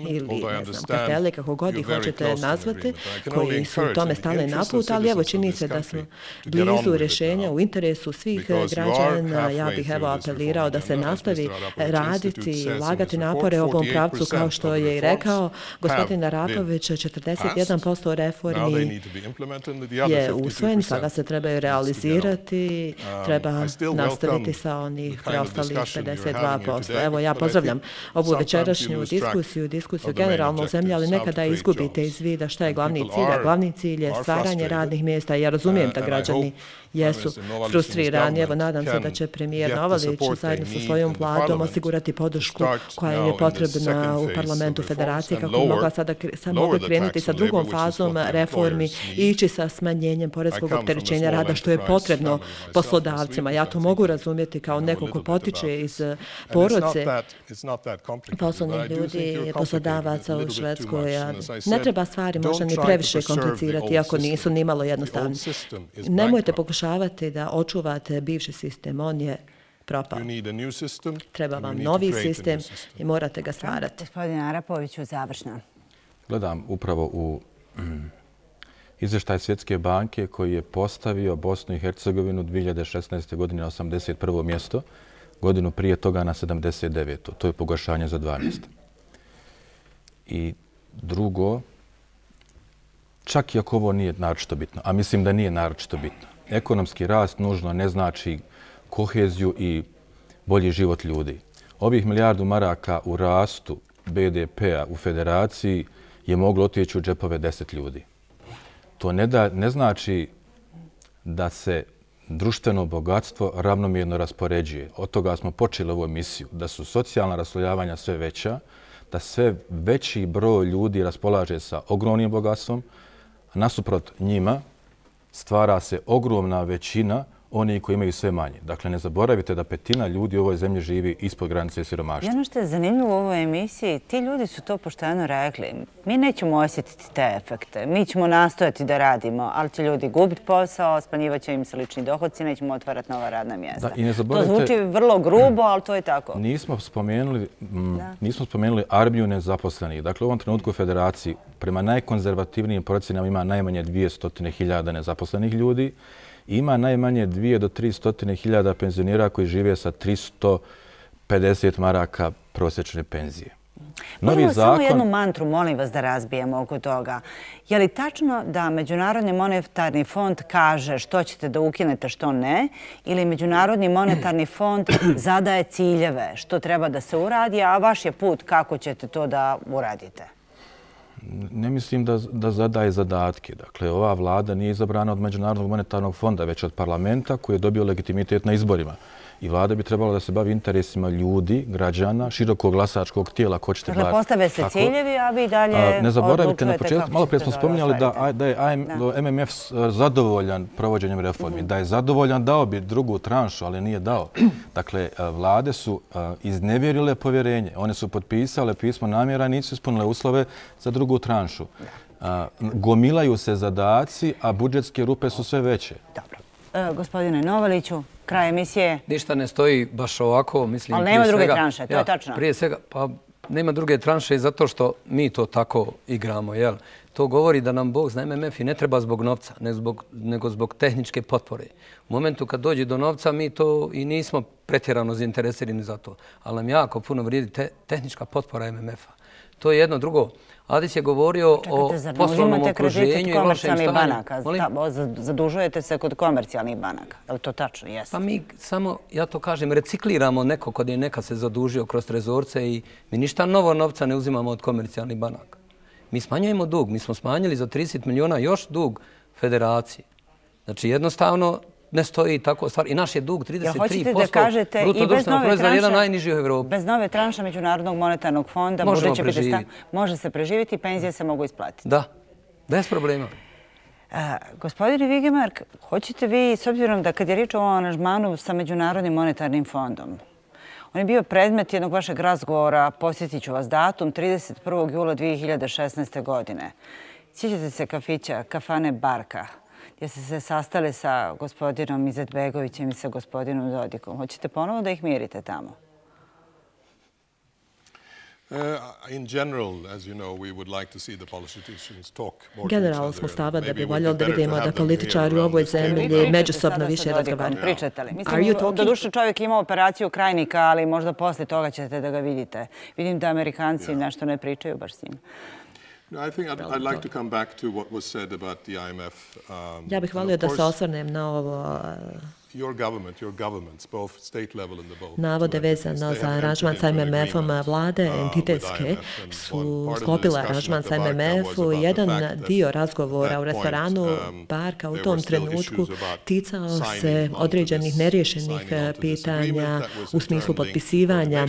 ili ne znam, kartele, kako god ih hoćete nazvati, koji su u tome stali naput, ali evo čini se da smo blizu rješenja u interesu svih građana. Ja bih evo apelirao da se nastavi raditi i ulagati napore u ovom pravcu, kao što je i rekao gospodin Arapović, četrdeset jedan posto reformi je usvojen, sada se trebaju realizirati, treba nastaviti sa onih preostalih pedeset dva posto. Evo, ja pozdravljam ovu večerašnju diskusiju, diskusiju generalno u zemlji, ali nekada izgubite iz vida šta je glavni cilj, a glavni cilj je stvaranje radnih mjesta. Ja razumijem da građani jesu frustrirani. Evo, nadam se da će premijer Novalić zajedno sa svojom vladom osigurati podršku koja je potrebna u parlamentu federacije kako bi mogla sada mogla krenuti sa drugom fazom reformi i ići sa smanjenjem porezkog opterećenja rada, što je potrebno poslodavcima. Ja to mogu razumjeti kao neko ko potiče iz porodice poslovnih ljudi, poslodavaca novaca u Švedskoj. Ne treba stvari možda ni previše komplicirati ako nisu ni malo jednostavni. Nemojte pokušavati da očuvate bivši sistem, on je propao. Treba vam novi sistem i morate ga stvarati. Gospodin Arapoviću, završno. Gledam upravo u izveštaj Svjetske banke koji je postavio Bosnu i Hercegovinu dvije hiljade šesnaeste. godine na osamdeset prvo mjesto, godinu prije toga na sedamdeset deveto. To je pogoršanje za dva mjesta. I drugo, čak i ako ovo nije naročito bitno, a mislim da nije naročito bitno, ekonomski rast nužno ne znači koheziju i bolji život ljudi. Ovih milijardu maraka u rastu be de pea u federaciji je moglo otići u džepove deset ljudi. To ne, da, ne znači da se društveno bogatstvo ravnomjerno raspoređuje. Od toga smo počeli ovu emisiju, da su socijalna raslojavanja sve veća, da sve veći broj ljudi raspolaže sa ogromnim bogatstvom, a nasuprot njima stvara se ogromna većina oni koji imaju sve manje. Dakle, ne zaboravite da petina ljudi u ovoj zemlji živi ispod granice siromaštva. I ono što je zanimljivo u ovoj emisiji, ti ljudi su to pošteno rekli. Mi nećemo osjetiti te efekte. Mi ćemo nastojati da radimo, ali će ljudi gubiti posao, smanjivat će im se lični dohodci, nećemo otvarati nova radna mjesta. To zvuči vrlo grubo, ali to je tako. Nismo spomenuli, nismo spomenuli armiju nezaposlenih. Dakle, u ovom trenutku u Federaciji prema najkonzervativnijim procjenama ima najmanje dvjesto hiljada nezaposlenih ljudi. Ima najmanje dvije do tri stotine hiljada penzionera koji žive sa tristo pedeset maraka prosječne penzije. Možemo samo jednu mantru, molim vas da razbijemo oko toga. Je li tačno da Međunarodni monetarni fond kaže što ćete da ukinete, što ne, ili Međunarodni monetarni fond zadaje ciljeve što treba da se uradi, a vaš je put kako ćete to da uradite? Ne mislim da, da zadaje zadatke. Dakle, ova vlada nije izabrana od Međunarodnog monetarnog fonda, već od parlamenta koji je dobio legitimitet na izborima. I vlada bi trebala da se bavi interesima ljudi, građana, širokog glasačkog tijela. Ko ćete dakle, postave se ciljevi, a vi dalje odlučujete. Ne zaboravite, na početku, malo prije smo spominjali da, da je em em ef zadovoljan provođenjem reformi. Da je zadovoljan, dao bi drugu tranšu, ali nije dao. Dakle, vlade su iznevjerile povjerenje. One su potpisale pismo namjera i nisu ispunile uslove za drugu tranšu. Gomilaju se zadaci, a budžetske rupe su sve veće. Dobro. Gospodine Novaliću, kraj emisije. Ništa ne stoji baš ovako. Mislim, ali nema druge tranše, to je tačno. Prije svega, pa nema druge tranše zato što mi to tako igramo. Jel? To govori da nam Bog zna em em ef i ne treba zbog novca, ne zbog, nego zbog tehničke potpore. U momentu kad dođe do novca, mi to i nismo pretjerano zainteresirani za to. Ali nam jako puno vrijedi te, tehnička potpora em em efa. To je jedno. Drugo, Adis je govorio o poslovnom okruženju i lošem stanju. Zadužujete se kod komercijalnih banaka. Je li to tačno? Jeste. Pa mi samo, ja to kažem, recikliramo neko kod je nekad se zadužio kroz trezorce i mi ništa novo novca ne uzimamo od komercijalnih banaka. Mi smanjujemo dug. Mi smo smanjili za trideset miliona još dug federaciji. Znači jednostavno ne stoji tako stvar. I naš je dug trideset tri posto bruto društvenog proizvoda, jedan najniži u Evropi. Bez nove tranše Međunarodnog monetarnog fonda može se preživjeti i penzije se mogu isplatiti. Da, bez problema. Gospodine Vigemark, hoćete vi, s obzirom da kad je riječ o ovom aranžmanu sa Međunarodnim monetarnim fondom, on je bio predmet jednog vašeg razgovora, posjetit ću vas datum, trideset prvog jula dvije hiljade šesnaeste. godine. Sjećate se kafića, kafane Barka, gdje ste se sastali sa gospodinom Izetbegovićem i sa gospodinom Dodikom. Hoćete ponovo da ih mirite tamo? Generalno smo stava da bi voljeli da vidimo da političari u ovoj zemlji međusobno više razgovaraju. Pričate li? Mislim, doduše čovjek ima operaciju krajnika, ali možda poslije toga ćete da ga vidite. Vidim da Amerikanci nešto ne pričaju baš s njim. Ja bih volio da se osvrnem na ovo navode vezano za aranžman sa em em efom. Vlade entitetske su sklopile aranžman sa em em ef-u. Jedan dio razgovora u restoranu Barka u tom trenutku ticao se određenih neriješenih pitanja u smislu potpisivanja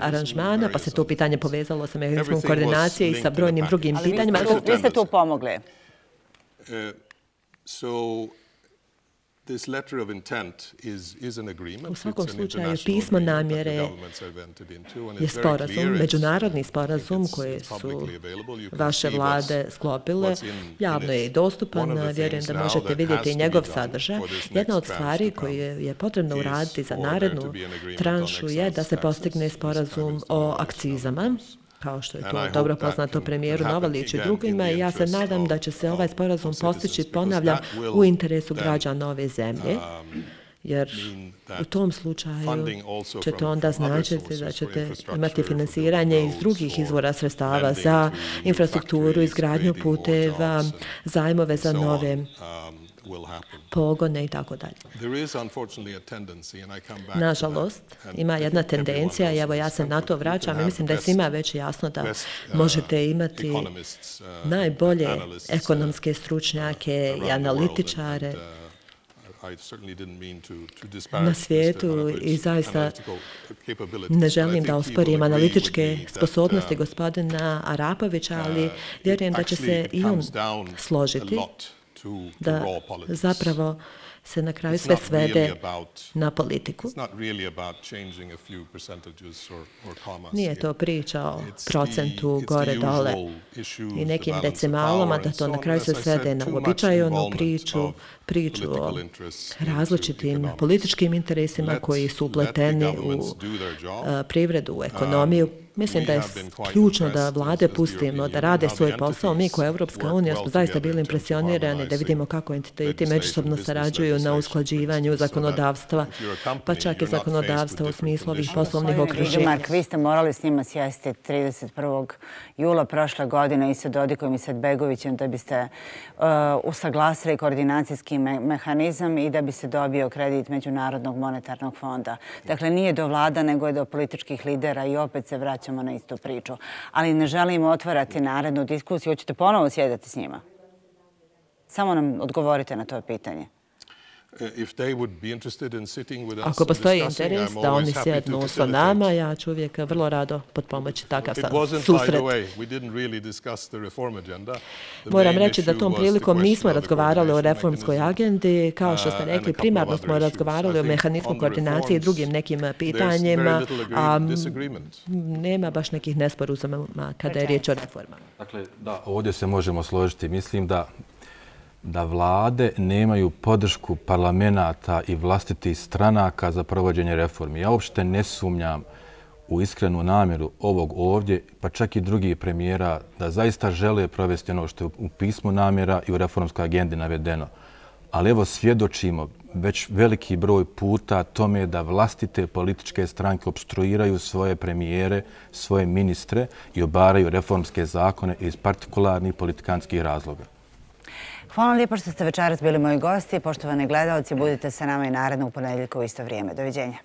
aranžmana, pa se to pitanje povezalo sa mehanizmom koordinacije i sa brojnim drugim pitanjima. Vi ste tu pomogli. U svakom slučaju, pismo namjere je sporazum, međunarodni sporazum koje su vaše vlade sklopile. Javno je i dostupan, vjerujem da možete vidjeti njegov sadržaj. Jedna od stvari koje je potrebno uraditi za narednu tranšu je da se postigne sporazum o akcizama, kao što je to dobro poznato premijeru Novaliću i drugima. I ja se nadam da će se ovaj sporazum postići, ponavljam, u interesu građana ove zemlje, jer u tom slučaju će to onda značiti da ćete imati finansiranje iz drugih izvora sredstava za infrastrukturu, izgradnju puteva, zajmove za nove pogone i tako dalje. Nažalost, ima jedna tendencija i evo ja se na to vraćam i mislim da je svima već jasno da možete imati najbolje ekonomske stručnjake i analitičare na svijetu i zaista ne želim da osporim analitičke sposobnosti gospodina Arapovića, ali vjerujem da će se i on složiti da zapravo se na kraju sve svede na politiku. Nije to priča o procentu gore-dole i nekim decimalama, da to na kraju se svede na uobičajenu priču, priču o različitim političkim interesima koji su upleteni u privredu, u ekonomiju. Mislim da je ključno da vlade pustimo da rade svoj posao. Mi kao Evropska unija smo zaista bili impresionirani da vidimo kako entiteti međusobno sarađuju na usklađivanju zakonodavstva, pa čak i zakonodavstva u smislu ovih poslovnih okruženja. Mark, vi ste morali s njima sjesti trideset prvog jula prošle godine i sa Dodikom i sa Begovićem da biste usaglasili koordinacijski mehanizam i da bi se dobio kredit Međunarodnog monetarnog fonda. Dakle, nije do vlada, nego je do političkih lidera i opet se vraćamo na istu priču. Ali ne želimo otvarati narednu diskusiju. Hoćete ponovo sjedati s njima? Samo nam odgovorite na to pitanje. Ako postoji interes da oni sjednu sa nama, ja ću uvijek vrlo rado potpomoći takav susret. Moram reći da tom prilikom nismo razgovarali o reformskoj agendi. Kao što ste rekli, primarno smo razgovarali o mehanizmu koordinacije i drugim nekim pitanjima, a nema baš nekih nesporazuma kada je riječ o reformama. Dakle, da, ovdje se možemo složiti. Mislim da da vlade nemaju podršku parlamenta i vlastitih stranaka za provođenje reformi. Ja uopšte ne sumnjam u iskrenu namjeru ovog ovdje, pa čak i drugih premijera, da zaista žele provesti ono što je u pismu namjera i u reformskoj agendi navedeno. Ali evo svjedočimo već veliki broj puta tome da vlastite političke stranke obstruiraju svoje premijere, svoje ministre i obaraju reformske zakone iz partikularnih politikanskih razloga. Hvala lijepo što ste večeras bili moji gosti. Poštovani gledalci, budite sa nama i narednog ponedjeljka u isto vrijeme. Doviđenja.